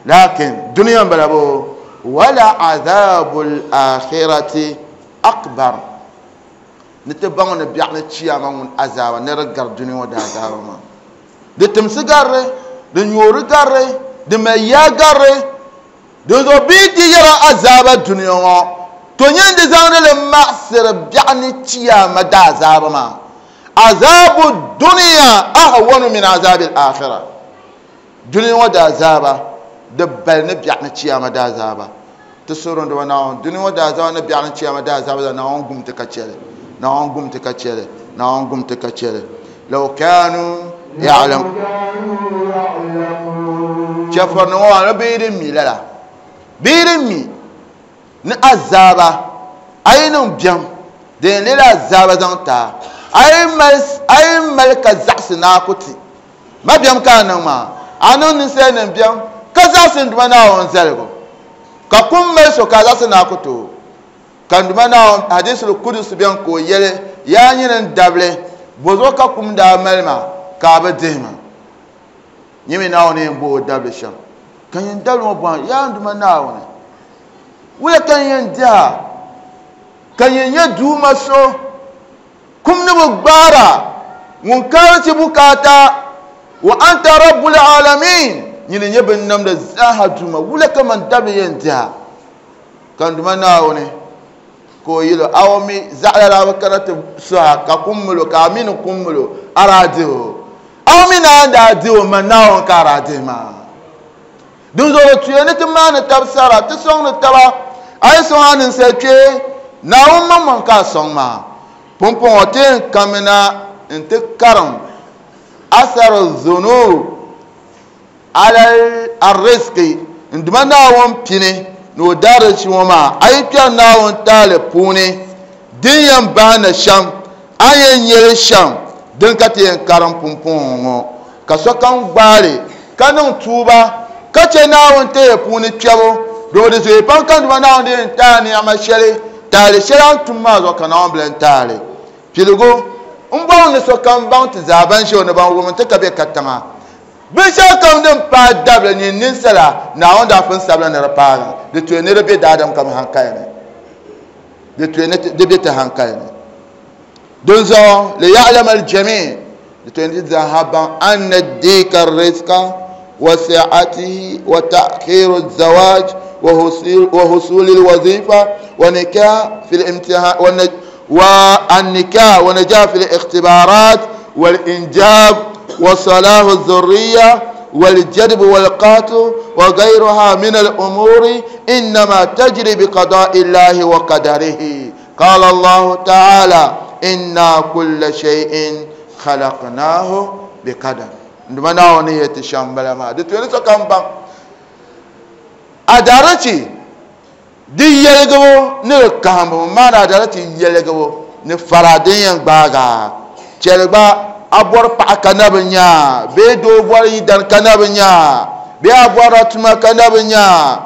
lakin duniya n bala bo wala azabul akhirati akbar ni ti baŋ ni biɛɣu ni chiyama ŋun azaba ni di gari duniya ŋɔ daazaba maa di timsi garri di nyoori garri di mali yaa garri di zuɣu bee di yɛra azaba duniya ŋɔ to nyɛ di zaŋdi li maɣasiri biɛɣu ni chiyama daazaba maa azabu duniya ahwanu min azabi al-akhirah duniya ŋɔ daazaba di bali ni biɛɣu ni chiyama daazaba ti suhuri ni Naawuni duniya ŋɔ daazaba ni biɛɣu ni chiyama daazaba la Naawuni gum ti ka chɛli Naawuni gum ti ka chɛli Naawuni gum ti ka chɛli law kanu ya'lam chɛfuri ŋɔ maa ni bee din mi lala bee din mi ni azaba a yi niŋ biɛm din leela azaba zaŋ taa a yi mali ka zaɣasi naa ku ti ma biɛm ka a niŋ maa a niŋ ninsal nim biɛm ka zaɣasi n Duuma Naawuni zaligu ka kum mali so ka a zaɣasi naa ku ti o ka n Duuma Naawuni hadisul kudus biɛni ka o yɛli yaa nyini n dabili bozuɣu ka kum daa mali ma ka a bi dihi ma nyimi Naawuni yɛn bo o dabili shɛm ka nyin dabili ŋɔ bɔhim yaa n Duuma Naawuni wula ka n yɛn diha ka nyin nyɛ duuma so kum ni bi gbaara ŋun kaari ti bukaata wa anta rabbul alamin nyini nyɛ bin namda zaaha duuma wula ka man dabili yɛn diha ka n Duuma Naawuni ka o yɛli awo mi zaɣala daa bi kana ti suha ka kum milo ka a mi ni kum milo a daa dihi o awo mi naan daa dihi o man Naawuni ka a daa dihi maa dinzuɣu tuya ni ti maani tabi sara ti sɔŋdi taba a yi sɔŋ a ninsal kpee Naawuni maŋmaŋ ka a sɔŋ maa pumpɔŋɔ ti yɛn kamina n ti karim asar zunub ala arrizqi n Duuma Naawuni pini ni o daarichi ŋɔ maa a yi kpɛri Naawuni taali puuni din yɛn bahi na shɛm a yɛn nyɛli shɛm din ka ti yɛn karim pumpɔŋɔ ŋɔ ka sokam gbaali ka niŋ tuuba ka chɛ Naawuni taya puuni kpɛbu domi di zooi pam ka n Duuma Naawuni di yɛn taai niɛma shɛli taali shɛli a ni tum maa zuɣu ka Naawuni bi lan taali piligu n bɔŋ ni sokam baŋ ti zaa ban ʒɛ o ni ban wum ti ka bɛ katiŋa binshɛɣu kam din paai dabili nyin ninsala Naawuni daa pun sabila ni di paagi di tuya ni di bɛ daadam kam hankali ni di tuya ni di bɛ ti hankali ni dinzuɣu liya'lama al-jami' di tuya ni ti zaaha baŋ anna dika rizqa wa si'atihi wa ta'khiru az-zawaj wa husul al-wazifa wa nikah fi al-imtihan wa an-nikah wa najah fi al-ikhtibarat wal-injab وصلاح الذرية والجدب والقاتل وغيرها من الأمور إنما تجري بقضاء الله وقدره قال الله تعالى إنا كل شيء خلقناه بقدر عندما نعونية الشامبلا ما دي تقول سكان بان أدارتي دي يلقبو نلقامبو ما أدارتي يلقبو نفرادين باغا تلقى a bɔri paɣa ka na bi nyaa bee doo bɔri yidan ka na bi nyaa bee a bɔrila tuma ka na bi nyaa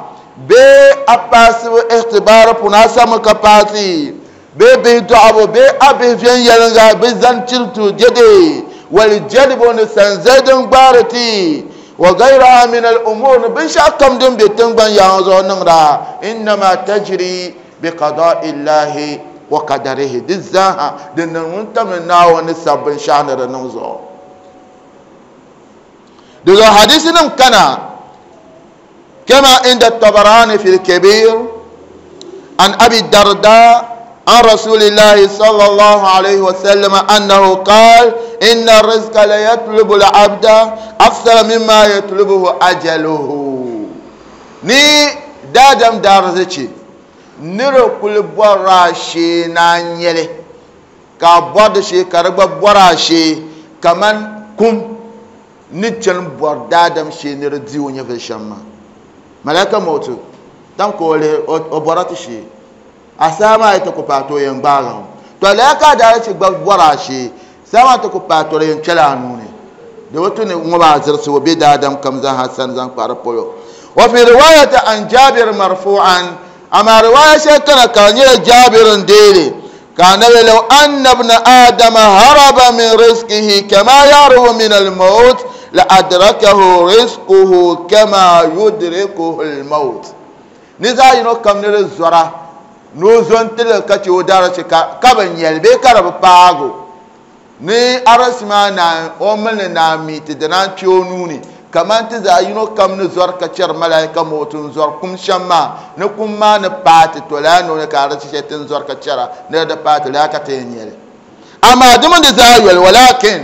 bee a paasibu ihtibaari puuni a sami ka paasi bee bihi dɔɣibu bee a bihi viɛnyɛliŋga bi zani chiritu dede wali jɛlibu ni sanzali din gbaari ti wa gayraha min al-umur ni binshɛɣu kam din be tingbani yaŋɔ zuɣu niŋda innama tajri bi qada'i llahi wa qadarihi di zaaha di niŋ ŋun tam ni Naawuni ni sabi binshɛɣu ni di niŋ zuɣu di zuɣu hadisi nim kana kama inda Tabarani fi al-Kabir an Abi Darda an Rasulillahi sallallahu alayhi wa sallam annahu qala inna ar-rizqa la yatlubu al-abda akthara mimma yatlubuhu ajaluhu ni daadam daarzichi nira kuli bɔrila shee na nyɛli ka bɔri di shee ka di gba bɔri a shee kaman kum ni chani bɔri daadam shee ni di di o nyɛvili shɛm maa malaka moto tam ka o lihi o bɔra ti shee a saa maa yi ti ku paai ti o yɛn gbaagi o to lala ka a daarichi gba bɔri a shee saa maa ti ku paai ti o yɛn kpɛla a nuu ni di bi tu ni ŋɔ maa zirisi o bɛ daadam kam zaaha sani zaŋ kpa di polo wa fi riwaayati an Jabir marfu'an أما رواية شيخنا كان جابر ديلي كان لو أن ابن آدم هرب من رزقه كما يهرب من الموت لأدركه رزقه كما يدركه الموت نزا ينو كم نرزورا نوزون تلك تودارة كابن يلبي كرب باغو ni arasima na omini na mi ti dina tiyonuni kaman ti zaɣ yino kam ni zɔri ka chɛri malaika mootu n zɔri kum shɛm maa ni kum maa ni paati to laa noo ka arisi shɛli ti n zɔri ka chɛra ni di paati laa ka ti yɛn nyɛli amaa di mini di zaa yoli walakin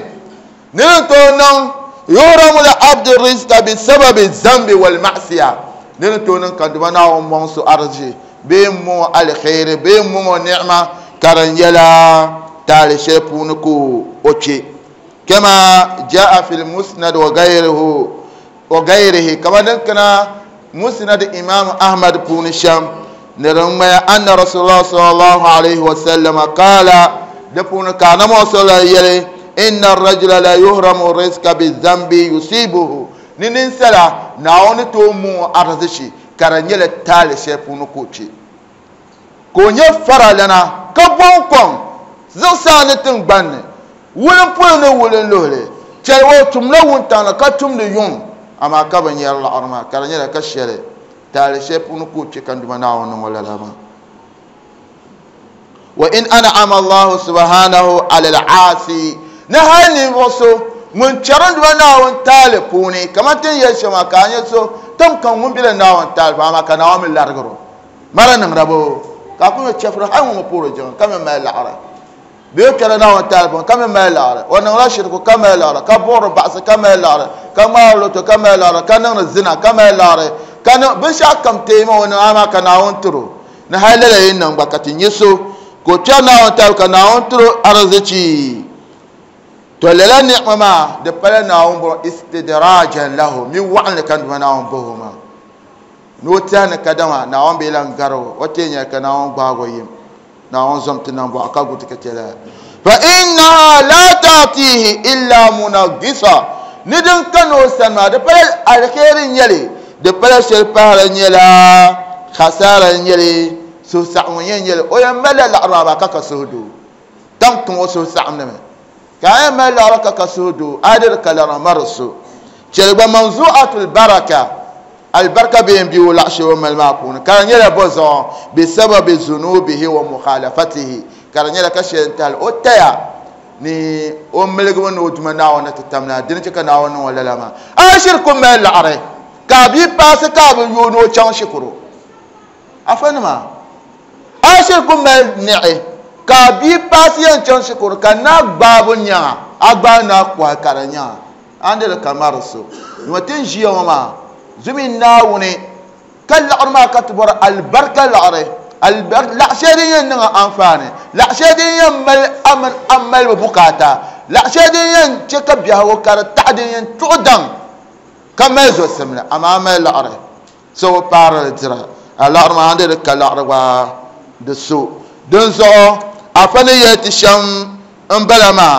ni ni tooi niŋ yuhramu li abdi rizqa bi sababi zambi wal ma'siya ni ni tooi niŋ ka duma Naawuni mɔŋ so arisi bee n mɔŋ alkhairi bee n mɔŋ ni'ma ka di nyɛla taali shɛli puuni ka o kpe kama jaa fi lmusnad wa gayrihi وغيره كما دنكنا مسند إمام أحمد بن شام نرمي أن رسول الله صلى الله عليه وسلم قال دفن كان موصل يلي إن الرجل لا يهرم الرزق بالذنب يصيبه ننسلا ناون تومو أرزشي كرنيل التالي شيفون كوتشي كوني فرالنا كبون زوسانة تنبان ولن بولن ولن لولي تلو تملا ونتانا كتم ليون أما كابن يلا أرما كرنيل كشيري تالي شيفون كوتشي كان دمنا ولا لما وإن أنعم الله سبحانه على العاصي نهاني وصو من شرند وناون تالي كما تنيشما كان يسو تم كان من بلا ناون تالي فما كان عامل لارغرو مرة نمربو كاكو يشفر هاي مبورو جون كم ما العرا بيوكل ناون تالي كم ما العرا ونغلا شركو كم العرا كبور بعث كم العرا كما لوتو كم العرا كان الزنا كم العرا كان بشا كم تيما ونعما كان ناون ترو نهاي لا ينن بكاتي يسو ko tana on tal kana on tro arzici to lela ni'ma de pala na on bo istidrajan lahu min wa'an kan na on bohuma no tana kadama na on be lan garo o tenya kana on gbago yim na on zomti nan bo aka gutu ketela fa inna la ta'tihi illa munagisa nidin kano sanma de pala alkhairin yele de pala shel pala nyela khasara nyele so sa'un yen o yan mala al-araba kaka suhudu dan kun wasu sa'un ne ka yan mala al-araba kaka suhudu adir kalara marsu chelba manzu'atul baraka albarka bi bi wala shu mal maqun kan yela bozo bi sababi zunubihi wa mukhalafatihi kan yela ka shental o taya ni o melgo no duma na wona tatamna din ci kana wona wala lama ashirkum mal are ka bi passe ka bi yono chan shukuru afanma ashirkum mal ni'i ka bi pasiyan can shukuru ka na babu nya agba na kwa karanya andel kamarso watin jiya ma zumi nawune kal arma katbor al barka al are al la shariyan na amfane la shariyan mal aman amal bukata la shariyan cika biya wa kar ta'diyan tudan kama zo samna amama al are so par dira al arma andel kal arwa da so don so a fani ya ti sham in bala ma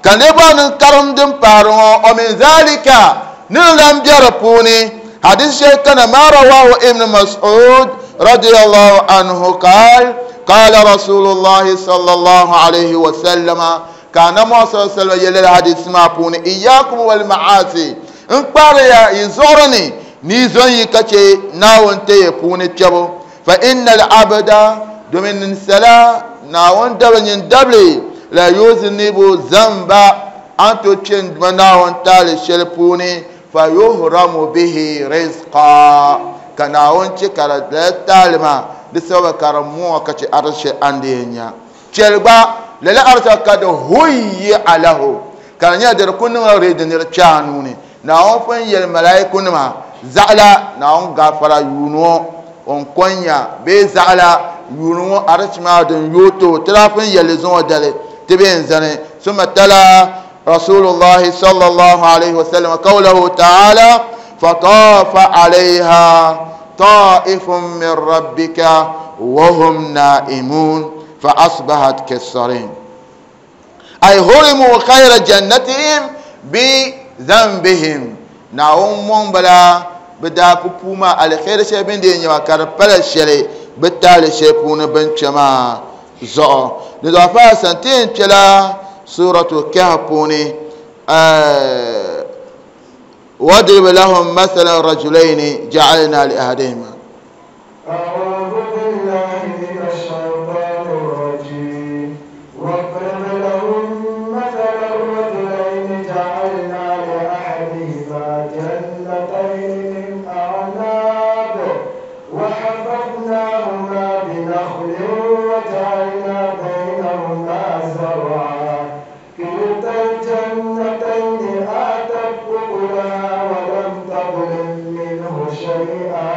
ka ne ba ni karim din faru o min zalika ni lam biyar puni hadis shay kana ma rawahu ibn mas'ud radiyallahu anhu qal qala rasulullah sallallahu alayhi wa sallama kana ma sallallahu alayhi hadis ma puni iyyakum wal ma'asi in qara ya izorni ni zon yi kace nawon te puni tebo fa innal abda domin sala na wanda banyin dable la yuznibu zamba an to cin na wanta le shelpuni fa yuhramu bihi rizqa kana wonci kara da talima da sababa karamu ka ci arshe andenya chelba lala arsa ka da huyyi alahu kana da kunun redin chanu ne na won fan yel malaikun ma za'la na won gafara yuno on konya be za'la yunwo archma din yoto trafin yalizon dale tibin zane summa tala rasulullah sallallahu alaihi wasallam qawluhu ta'ala fatafa alaiha ta'ifun min rabbika wa hum na'imun fa asbahat kasarin ay hurimu khayra jannatihim bi dhanbihim na'um bala bida pupuma alkhair shebin din yawa karpala shele bitali shepuna benchama Zuɣu di zuɣu fa san ti yɛn kpɛla suratu Kahf puuni wadrib lahum mathalan rajulaini ja'alna li ahadihima. أعوذ بالله من الشيطان الرجيم. واضرب لهم مثلا رجلين جعلنا لأحدهما جنتين من أعناب وحففناهما بنخل وجعلنا بينهما زرعا كلتا الجنتين آتت أكلها ولم تظلم منه شيئا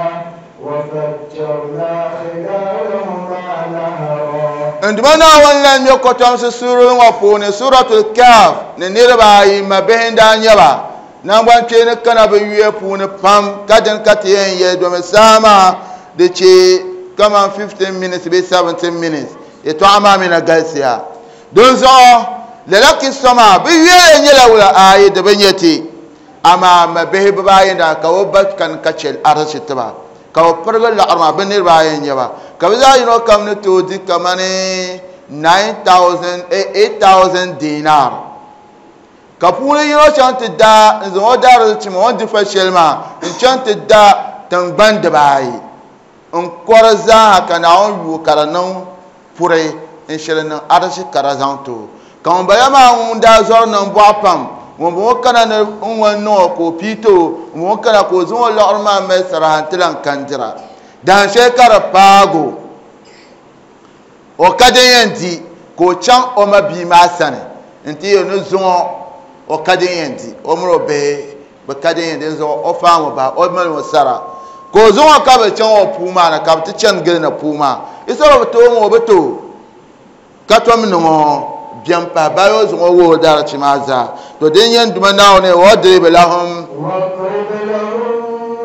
وفجرنا خلالهما نهرا. Nduma Naawuni lan nyɛ kɔtɔmsi suurili ŋɔ puuni Suratul Kahf ni niriba ayi ma bihi n-daa nyɛ ba nangban kpeeni kana bɛ yuya puuni pam ka dini ka ti yɛn yɛli domi saha maa di che kaman fifteen minutes bee seventeen minutes yɛltɔɣa maa mi na galisiya. Dinzuɣu lala kisa maa bɛ yuya nyɛla wula ayi di bi nyɛ ti amaa ma bihi bibaayi n-daa ka o ba kani ka che arisi tiba ka bɛ pirigi laɣiri maa bɛ niriba ayi n-nyɛ ba ka bɛ zaa yino kam ni tooi di kamani nine thousand eight thousand dinar ka puuni yino chaŋ ti da n zaŋ o daarizichi maa o ni di fa shɛli maa n chaŋ ti da tingbani dibaayi n kɔri zaaha ka Naawuni yuui ka di niŋ puri n shiri niŋ arisi ka di zaŋ ti o ka ŋun bala maa ŋun daa zɔri niŋ bɔɣu pam ŋun bɔŋɔ kana ni n ŋun niŋ o ka o pii ti o ŋun bɔŋɔ kana ka o zaŋ o liɣiri maa mali saraha n ti lan kandira dahin shɛli ka di paagi o o ka din yɛn di ka o chaŋ o ma bia maa sani n ti yɛli ni zuŋɔ o ka din yɛn di o mini o bihi bi ka din yɛn di zuɣu o faami bahi o mali o sara ka o zuŋɔ ka bi chaŋ o puu maa ni ka bi ti chani gili ni puu maa isɔrɔ bi tooi ŋɔ o bi tooi ka tom niŋ o biɛm pahi bayi o zaŋ o wuhi o daarichi maa zaa to din yɛn duma Naawuni wadrib lahum واضرب لهم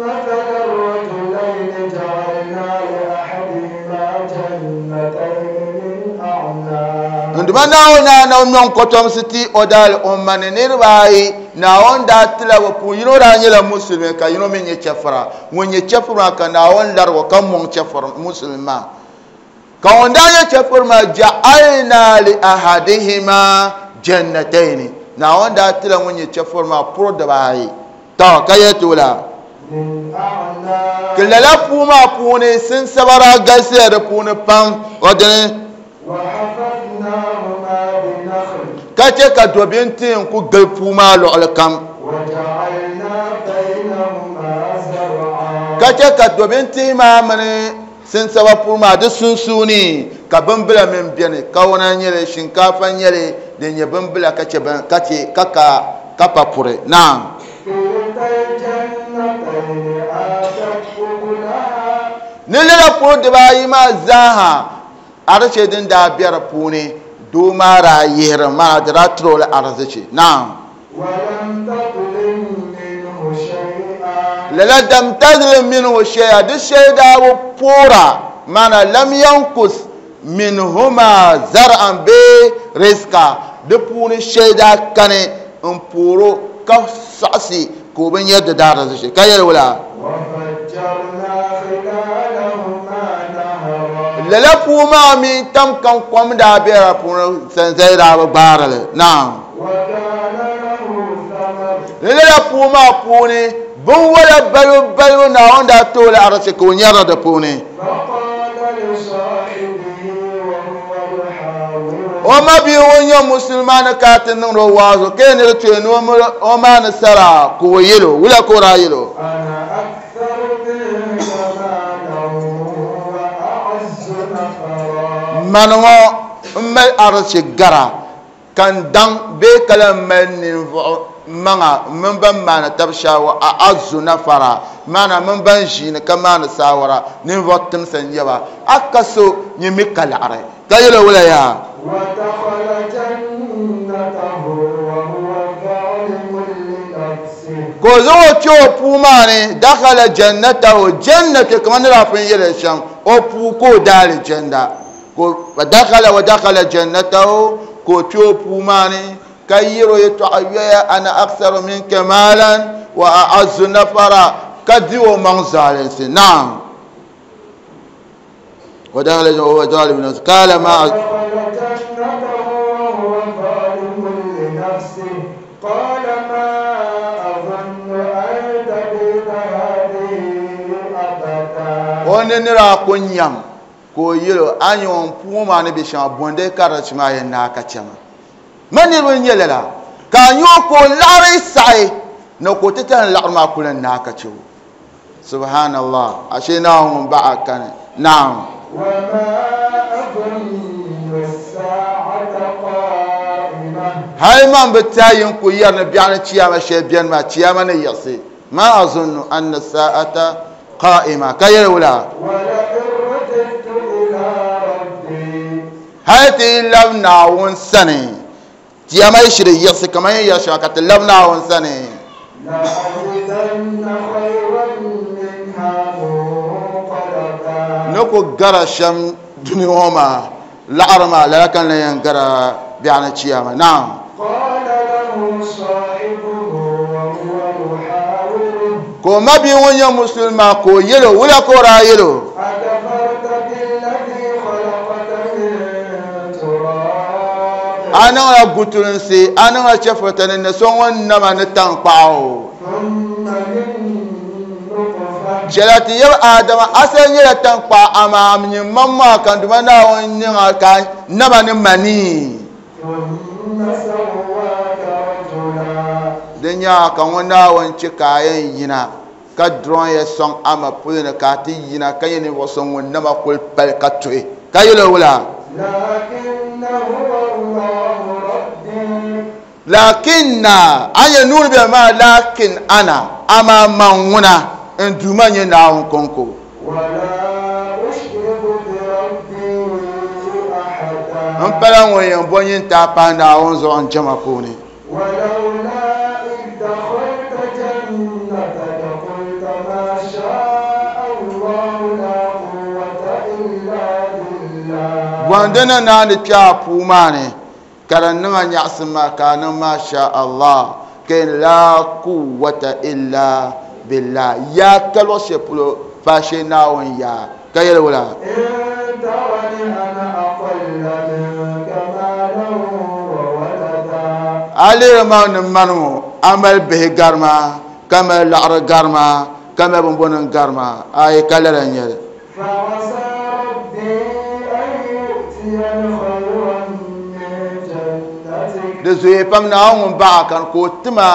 مثلا رجلين جعلنا لأحدهما جنتين من أعناب. Nduma Naawuni na na nyɔŋ kɔtɔmsi ti o daali o ma ni niriba ayi Naawuni daa tila bi puuni yino daa nyɛla musulimi ka yino mi nyɛ chɛfura ŋun nyɛ chɛfura maa ka Naawuni larigi o ka mɔŋ chɛfura musulimi maa ka ŋun daa nyɛ chɛfura maa ja'alna li ahadihima jannatayni Naawuni daa tila ŋun nyɛ chɛfura maa puri dibaayi tɔ ka yɛ ti la من أعناب. Ka lala puu maa puuni sinsaba daa galisiya di puuni pam o dini وحففناهما بنخل ka che ka dobinti n ku gili puu maa luɣuli kam وجعلنا بينهما زرعا. Ka che ka dobinti maa mini sinsaba puu maa di sunsuuni ka bimbila min beni kawuna nyɛli shinkaafa nyɛli din nyɛ bimbila ka che bin ka che ka ka ka pa puri naam. كلتا الجنتين آتت أكلها Ni lala puri dibaayi maa zaaha ariche din daa be di puuni doo maa daa yihiri maa di daa tiri o la arizichi naam. ولم تظلم منه شيئا. Lala dam tazlim minhu shay'a di shɛli daa bi poora maana lam yankus minhuma zar'an bee rizqa di puuni shɛli daa kani n pooro ka saɣasi ka o bi nyɛ di daa arizichi ka yɛli wula. وفجرنا خلالهما نهرا. Lala puu maa mi tam kam kom daa be di puuni sanzali daa bi gbaari li naam. وكان له ثمر. Lala puu maa puuni binwala balibu balibu Naawuni daa tooi la arisi ka o nyɛri di puuni. فقال لصاحبه وهو يحاوره O ma bia ŋun nyɛ musulmaani ka ti niŋdi o waazu ka yɛn ni di tooi ni o maa ni sara ka o yɛl o wula ka o daa yɛl o. أنا أكثر منك مالا وأعز نفرا. Mani ŋɔ n mali arisi gara ka n daŋ bee ka lan mali ninvuɣu maŋa mini ban maani tabi shaawa a azu nafara maana mini ban ʒiini ka maani saawara ninvuɣu timsa n nyɛ ba a ka so nyɛ mi ka laɣiri ka yɛl o wula yaa. ودخل جنته وهو ظالم لنفسه. Ka o zaŋ o kpe o puu maa ni dakhala jannatahu jannatu kamani ni daa pun yɛli shɛm o puu ka o daali janda ka o dakhala wa dakhala jannatahu ka o kpe o puu maa ni ka yɛri o yɛltɔɣa yoya ana aktharu minka maalan wa a'azzu nafara ka di o maŋ zaalinsi naam. ودخل وهو ظالم لنفسه قال ما ودخل جنته وهو ظالم لنفسه قال ما أظن أن تبيد هذه أبدا ونرى كنيام ko yelo anyon puma ne bi shan bonde karach ma yen na ka chama mani ro nyelela ka nyo ko lari sai na ko tetan lar ma kulan na ka chu subhanallah ashina hum ba'akan na'am wa ma adunnu as-sa'ata qa'imah hay man bitayin ku yarna bi'an chiyama shay bi'an ma chiyama ne yasi ma azunnu anna as-sa'ata qa'ima kayawla hayati lam naawun sani tiyama shiri yasi kaman ya shaka ta lam naawun sani la ajidanna khayran minha munqalaba nako gara sham duniya ma la'arma la kan lan gara bi'ana ciyama na'am qala lahu sahibuhu wa huwa yuhawiruhu ko mabi wonya musulma ko yelo wala ko ra yelo ana la gutulinsi ana la chefotani ne sonwon nama ne tankpawo jelati yeb adama asal nyela tankpa ama amnyi mamma kan duma na won nyinga ka nama ne mani denya ka won na won chika yen yina ka dron ye song ama pulina ka ti yina ka yen wo song won nama kul pal ka toy ka yelo wala lakin anya nur bi ma lakin ana ama manwuna nduma nye na konko wala ushriku bi rabbi ahada an pala won bonyin ta pa na on zo an jama ko ni walaula id dakhalta jannataka qulta ma sha'a Allah la quwwata illa billah wandana na ni pya puma ne karanninga nyaqsima kana ma sha Allah ken la quwwata illa billah ya kalo sepulo fashe na on ya kayel wala in tawani ana aqalla minka malan wa walada ale ma ni manu amal bihi garma kama la'ar garma kama bonbonin garma ay kalala nyel fa asa rabbi an yu'tiyani khayran min jannatik da zoye pam na ŋun baɣa kan ko tima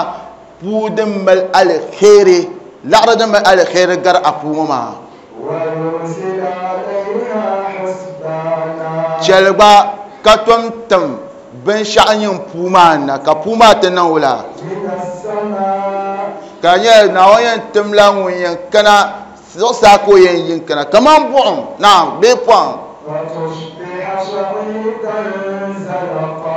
puu din mali alkhairi laɣari din mali alkhairi gari a puu ŋɔ maa wa yursila alayha husbana chɛli gba ka tom tim binshaɣu nyin puu maa na ka puu maa ti niŋ wula min as-samaa ka nyɛ Naawuni yɛn timla ŋun yɛn kana zuɣusaa ka o yɛn yin kana kaman buɣum naam bee pɔhim fatusbiha sa'idan zalaqa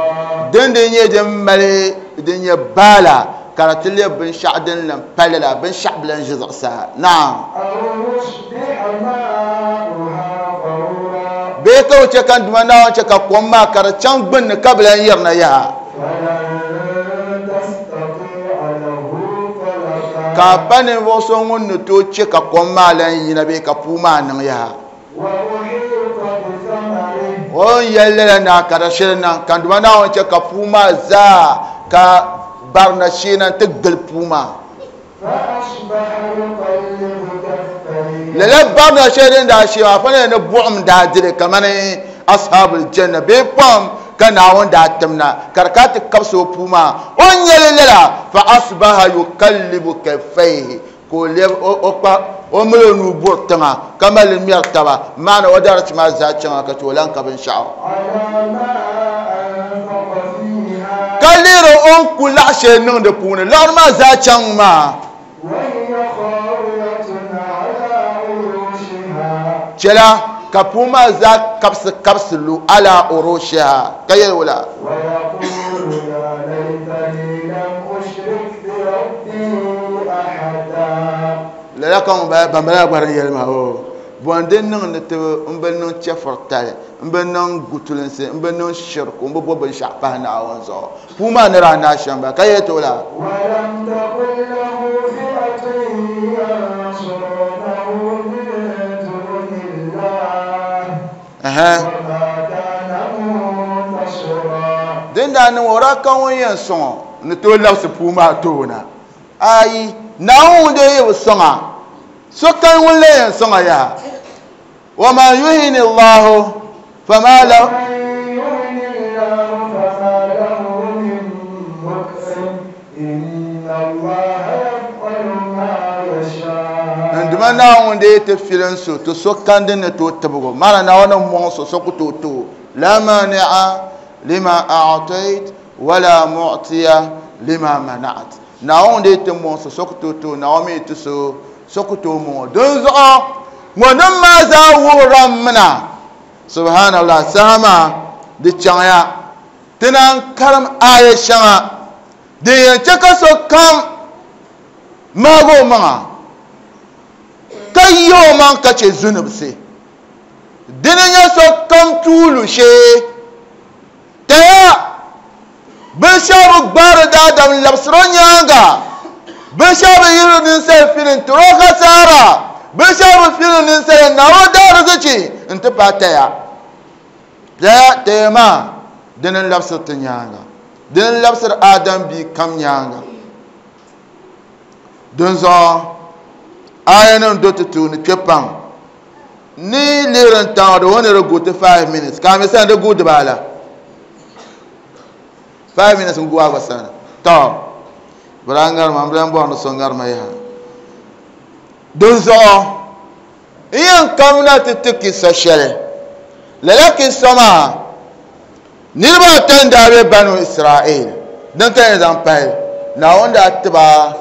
din din nyɛ din mali din nyɛ baala ka di ti lɛbi binshaɣu din lan palli la binshaɣu bi lan ʒi zuɣusaa naam aw yusbiha ma'uha ghawra bee ka o chɛ ka duma Naawuni chɛ ka kom maa ka di chaŋ gbunni ka bi lan yirina yaha falan tastati'a lahu talaba ka pa ninvuɣu so ŋun ni tooi chɛ ka kom maa lan yina bee ka puu maa niŋ yaha wa uhita bi thamarihi o ni yɛli lala na ka di shiri niŋ ka duma Naawuni chɛ ka puu maa zaa ka barina sheena n ti gili puu maa fa asbaha yuqallibu kaffayhi lala barina shee din daa shee maa fa ni buɣum daa dili kamani ashabul janna bee pɔhim ka Naawuni daa timna ka di kana ti kabisi o puu maa o ni yɛli lala fa asbaha yuqallibu kaffayhi ka o lɛbi o kpa o mali o nuu buri tiŋa ka mali ŋmɛri taba maana o darichi maa zaa chaŋa ka ti o lan ka binshaɣu ala ma anfaqa fiha ka lihiri o ni ku laɣa shɛli niŋ di puuni laɣari maa zaa chaŋ maa wa hiya khawiyatun ala urushiha chɛla ka puu maa zaa kabisi kabisi lu ala urushiha ka yɛli wula wa yaqulu ya laytani lam ushrik bi rabbi ahada lala ka ŋun bala ban bala gba din yɛli maa o bon din niŋ ni ti n bi niŋ chɛfuri tali n bi niŋ gutulinsi n bi niŋ shirku n bi bo binshaɣu pahi Naawuni zuɣu puu maa ni daa naai shɛm ba ka yɛli ti o la wa lam takun lahu fi'atun yansurunahu min dunillah وما كان منتصرا din daa niŋ o daa ka ŋun yɛn sɔŋɔ ni tooi labisi puu maa toona ayi Naawuni dee yi bi sɔŋa sokam ŋun la yɛn sɔŋa yaha wa man yuhini Allahu fama lahu ومن يهن الله فما له من مكرم إن الله يفعل ما يشاء n duma Naawuni dee ti filin so ti sokam din ni tooi tibigi o maana Naawuni ni mɔŋ so so ku tooi ti o la mani'a lima a'tayt wala mu'tiya lima mana'at Naawuni dee ti mɔŋ so so ku tooi ti o Naawuni mi ti so so ku tooi mɔŋ o dinzuɣu ŋɔnim maa zaa wuhira mina subhanallah saha maa di chaŋya ti naan karim aya shɛŋa din yɛn chɛ ka sokam maagi o maŋa ka yi o maŋ ka chɛ zunubisi dini nyɛ sokam tuulu shee taya binshɛɣu bi gbaari daadam labisiri o nyaanga binshɛɣu bi yiri ninsal fili n tiri o hasaara binshɛɣu bi fili ninsal n naari o daarizichi n ti paai taya taya taya maa dini n labisiri ti nyaanga dini n labisiri adam bia kam nyaanga dinzuɣu aya nim do ti tuuni kpe pam ni lihiri n taŋa di woni di gu ti five minutes ka mi sani di gu dibaala five minutes n gu a gba sani tɔ bi daa ŋarima n bi lan bɔri ni so ŋarima yaha dinzuɣu n yɛn kamina ti ti kisa shɛli lala kisa maa niriba ata n daa be Banu Israel din ka yɛn zaŋ pahi Naawuni daa tiba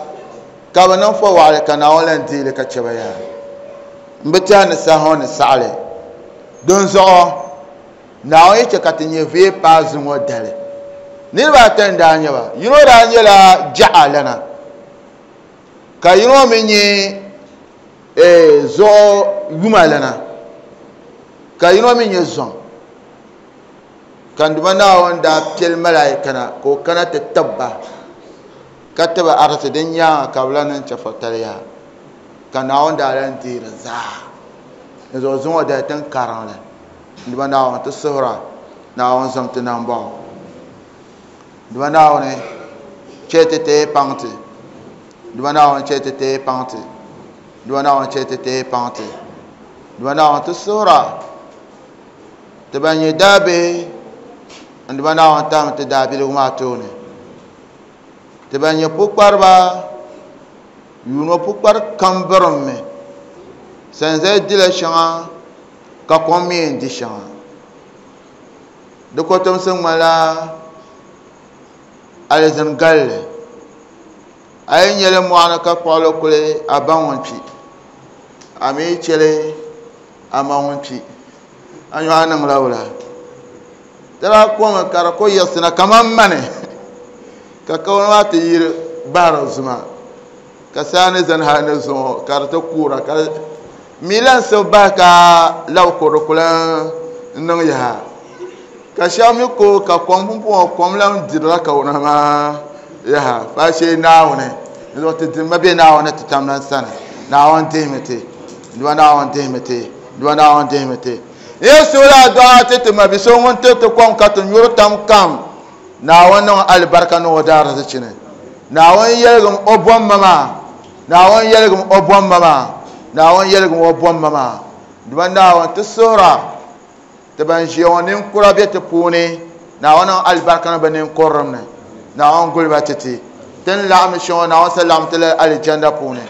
ka bi niŋ fɔwaɣili ka Naawuni lan deeli ka chɛ ba yaha n bi tɛhi ni saha ŋɔ ni saɣali dinzuɣu Naawuni yi chɛ ka ti nyɛ vee paai zuŋɔ dali niriba ata n daa nyɛ ba yino daa nyɛla jaɣa lana ka yino mi nyɛ zuɣu yuma lana ka yino mi nyɛ zɔŋ ka n duma Naawuni daa piɛli malaika na ka o kana ti tibba ka tiba arisi din nyaanga ka bi lan niŋ chɛfurtali yaha ka Naawuni daa lan deeri zaa n zuɣu zuŋɔ dali tin kariŋli n duma Naawuni ti suhura Naawuni zom ti nambɔɣu n duma Naawuni chɛ ti teei paŋ ti n duma Naawuni chɛ ti teei paŋ ti n duma Naawuni chɛ ti teei paŋ ti n duma Naawuni ti suhura ti ban nyɛ daabihi n duma Naawuni tahimi ti daabiligu maa tooni ti ban nyɛ pukpariba yuuno pukpari kam birimmi sanzali dila shɛŋa ka kom mi yɛn di shɛŋa di kotomsi ŋmanila alizin galli a yi nyɛli mɔɣuni ka kpuɣili kuli a ba ŋun kpi a mi chɛli a ma ŋun kpi a nyɔɣu niŋla wula di daa komi ka di ku yiɣisina kaman mani ka kawana maa ti yiri bahiri zuma ka saa ni zani hali ni zuŋɔ ka di ti kuura ka mi lan sibi bahi ka labi kuri di ku lan niŋ yaha ka shɛba mi ko ka kom pumpɔŋɔ kom lan dirila kawana maa yaha faashee Naawuni n zuɣu ti dimba be Naawuni ti tam lan sani Naawuni dihimi ti duma Naawuni dihimi ti duma Naawuni dihimi ti n yɛn suhula adua ti ti ma bi so ŋun tiri ti kom ka ti nyuri tam kam Naawuni niŋ alibarika niŋ o daarizichi ni Naawuni yɛligim o bomma maa Naawuni yɛligim o bomma maa Naawuni yɛligim o bomma maa duma Naawuni ti suhura ti ban ʒiya ŋɔ ninkura be ti puuni Naawuni niŋ alibarika niŋ bi ninkurilim ni Naawuni guliba ti ti tin laɣim shɛŋa Naawuni sa laɣim ti lala alijanda puuni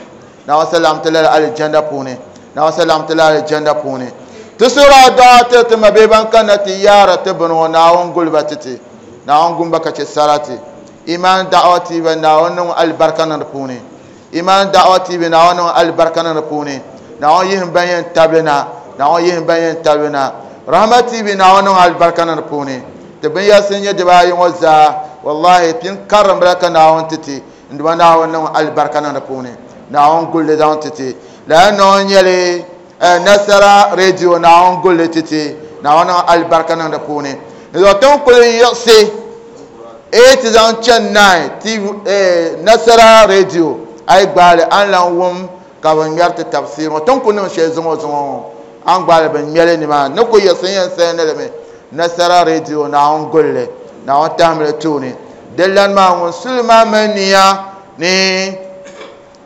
Naawuni sa laɣim ti lala alijanda puuni Naawuni sa laɣim ti lala alijanda puuni ti suhura adua ti ti ma bihi ban kanna ti yaara ti bini ŋɔ Naawuni guliba ti ti Naawuni gumba ka chɛ sarati iman da'wa T V Naawuni niŋ alibarika niŋ di puuni iman da'wa T V Naawuni niŋ alibarika niŋ di puuni Naawuni yihim ban yɛn tabili na Naawuni yihim ban yɛn tabili na Rahma T V Naawuni niŋ alibarika niŋ di puuni ti binyɛrisi nyɛ dibaayi ŋɔ zaa wallahi pin karim bila ka Naawuni ti ti n duma Naawuni niŋ alibarika niŋ di puuni Naawuni gulli zaŋ ti ti lala noo nyɛli Nasara radio Naawuni gulli ti ti Naawuni niŋ alibarika niŋ di puuni n zuɣu tin kuli yiɣisi eight zaŋ chani nine T V Nasara radio a yi gbaali a ni lan wum ka bi ŋmɛri ti tafsir ŋɔ tin ku niŋ shɛli zuŋɔ zuŋɔ ŋɔ an gbaali bin ŋmɛli nimaa ni ku yiɣisi yɛn sɛndili mi nasara radio Naawuni gulli Naawuni tahimli tooni di lan maa ŋun suli maa mali niya ni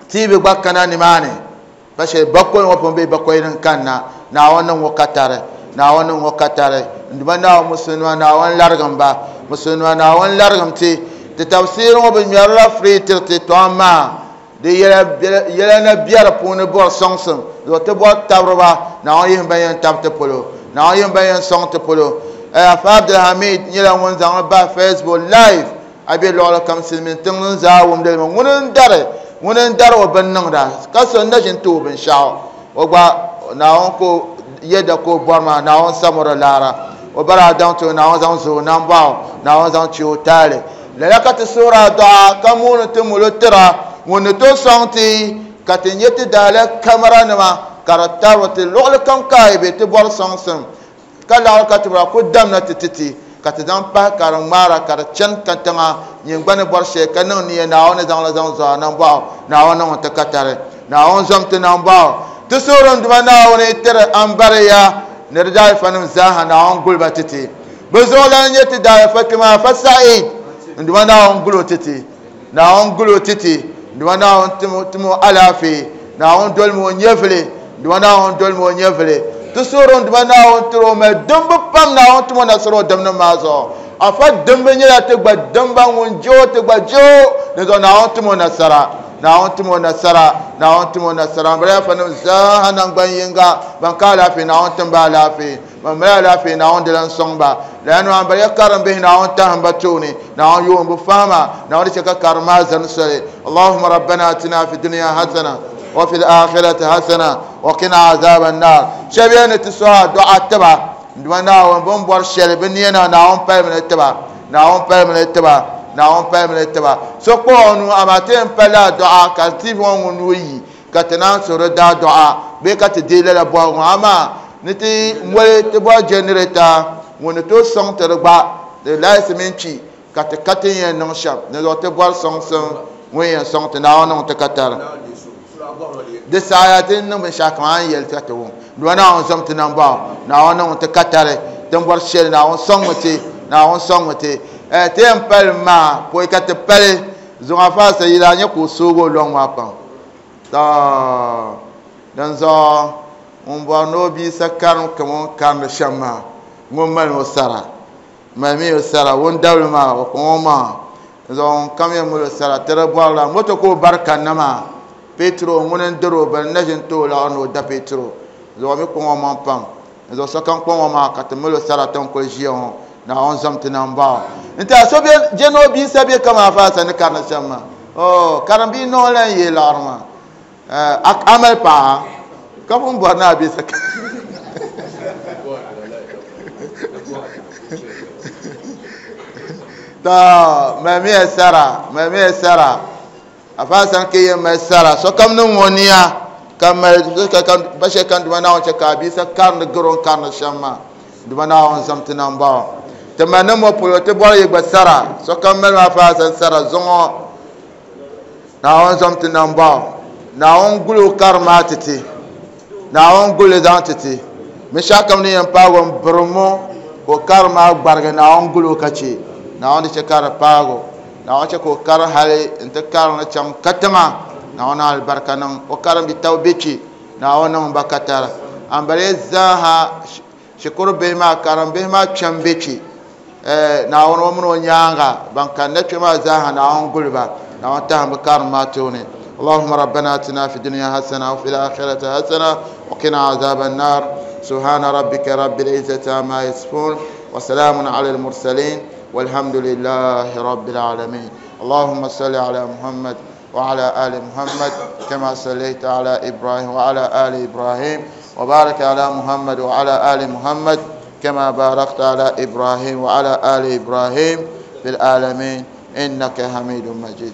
T V gba kana nimaani ba shɛli bakɔi ŋɔ pun bee bakɔi din kanna Naawuni niŋ ŋɔ katari Naawuni niŋ ŋɔ katari nduma Naawuni musulima Naawuni larigim ba musulima Naawuni larigim ti ti tafsiri ŋɔ bi ŋmɛrila free tiriti to amaa di yɛla na biɛri puuni bɔri sɔŋsim zuɣu ti bɔri tabiriba Naawuni yihim ban yɛn tabi ti polo Naawuni yihim ban yɛn sɔŋ ti polo Afa Abdulhamid nyɛla ŋun zaŋli bahi Facebook live a be luɣuli kam silimiin tiŋ ni zaa wumdili mi ŋuni n dari ŋuni n dari o bin niŋda ka so n na ʒini ti o binshaɣu o gba Naawuni ko yɛda ka o bɔri maa Naawuni samuri laara o bara daŋ ti o Naawuni zaŋ zo o nambɔɣu Naawuni zaŋ chi o taali lala ka ti suhuri adua ka muuni ti mulo tira ŋun ni tooi sɔŋ ti ka ti nyɛ ti daala kamara nima ka di tabi ti luɣuli kam ka yi be ti bɔri sɔŋsim ka laɣiri ka ti bɔra ku damna ti titi ka ti zaŋ pahi ka di ŋmaara ka di chani katiŋa nyin gba ni bɔri shɛli ka niŋ niya Naawuni zaŋli zaŋ zo a nambɔɣu Naawuni niŋ ti katari Naawuni zom ti nambɔɣu ti suhuri n duma Naawuni tiri ambariya ni di daalifanim zaaha Naawuni guliba titi bi zuɣulan nyɛ ti daalifa kpema Afa Said n duma Naawuni guli o titi Naawuni guli o titi n duma Naawuni timo alaafee Naawuni dolimi o nyɛvili n duma Naawuni dolimi o nyɛvili ti suhuri n duma Naawuni tiri o mali dimbu pam Naawuni timo nasara o dimnim maa zuɣu afa dimbu nyɛla ti gba dimba ŋun je o ti gba je o ni zuɣu Naawuni timo nasara Naawuni timo nasara Naawuni timo nasara n bala afanim zaaha nangban yinga ban ka alaafee Naawuni tim ba alaafee ban mali alaafee Naawuni di lan sɔŋ ba lala nima n bala karim bihi Naawuni tahim ba tooni Naawuni yoon bi fahama Naawuni di chɛ ka karim maa zani soli Allahumma rabbana atina fi dunya hasana wa fil akhirati hasana wa qina azaban nar shɛba yɛn ni ti sɔha du'a tiba nduma Naawuni bin bɔri shɛli bi niya na Naawuni palimi ni tiba Naawuni palimi ni tiba Naawuni palimi ni tiba so kpuɣi o nuu amaa ti yɛn palila du'a ka T V ŋɔ ŋun nuu yi ka ti naan suhuri daa du'a bee ka ti deei lala bɔhigu ŋɔ amaa ni ti moli ti bɔri jɛnireta ŋun ni tooi sɔŋ ti di gba di laayisi mini kpi ka ti ka ti yɛn niŋ shɛm ni zuɣu ti bɔri sɔŋsim ŋun yɛn sɔŋ ti Naawuni niŋ ti katari di saha ti niŋ binshaɣu kam a ni yɛli ka ti wum duma Naawuni zom ti nambɔɣu Naawuni niŋ ti katari tin bɔri shɛli Naawuni sɔŋmi ti Naawuni sɔŋmi ti ti yɛn pali maa pɔi ka ti pali zuŋ afa sayila nyɛ ka o soogi o lɔŋ maa pam to din zuɣu ŋun bɔri ni o bia sa karim kama o ni karindi shɛm maa ŋun mali o sara malimi o sara ŋun dabili maa o kpaŋ o maŋa zuɣu ŋun kam yɛn mali o sara ti di bɔrila moto ka o bari kanna maa petro ŋuni n diri o bini na ʒini ti o laɣiri ni o da petro zuɣu mi kpaŋ o maŋ pam zuɣu sokam kpaŋ o maŋa ka ti mali o sara ti ni kuli ʒiya ŋɔ Naawuni zom ti nambɔɣu n tiɛha so je ni o bia sa bɛ kama afaasa ni karindi shɛm maa o karim bia noo lan yee laɣiri maa a mali paɣa ka pun bɔri ni a bia sa to malimiya sara malimiya sara afaasa ke yɛn mali sara sokam niŋ ŋɔ niya ka mali ba shɛli kan duma Naawuni chɛ ka a bia sa karindi gari o ni karindi shɛm maa duma Naawuni zom ti nambɔɣu ti mali niŋ ŋɔ polo ti bɔri yi gba sara sokam mali maa afaasa sara zuŋɔ Naawuni zom ti nambɔɣu Naawuni guli o kari maa ti ti Naawuni guli zaŋ ti ti binshɛɣu kam ni yɛn paagi o n birimo ka o kari maa gbarigi Naawuni guli o ka chɛ Naawuni di chɛ ka di paagi o Naawuni chɛ ka o kari hali n ti kari ni chaŋ katiŋa Naawuni alibarika niŋ o karim bi tabi bɛ kpɛ Naawuni niŋ ba katari ambali zaaha shikuru bihi maa karim bihi maa kpɛm bɛ kpɛ Naawuni o mini o nyaanga ban kanna kpɛ maa zaaha Naawuni guli ba Naawuni tahim bi karim maa tooni اللهم ربنا اتنا في الدنيا حسنه وفي الاخره حسنه وقنا عذاب النار سبحان ربك رب العزه عما يصفون وسلام على المرسلين والحمد لله رب العالمين اللهم صل على محمد وعلى آل محمد كما صليت على إبراهيم وعلى آل إبراهيم وبارك على محمد وعلى آل محمد كما باركت على إبراهيم وعلى آل إبراهيم في العالمين إنك حميد مجيد.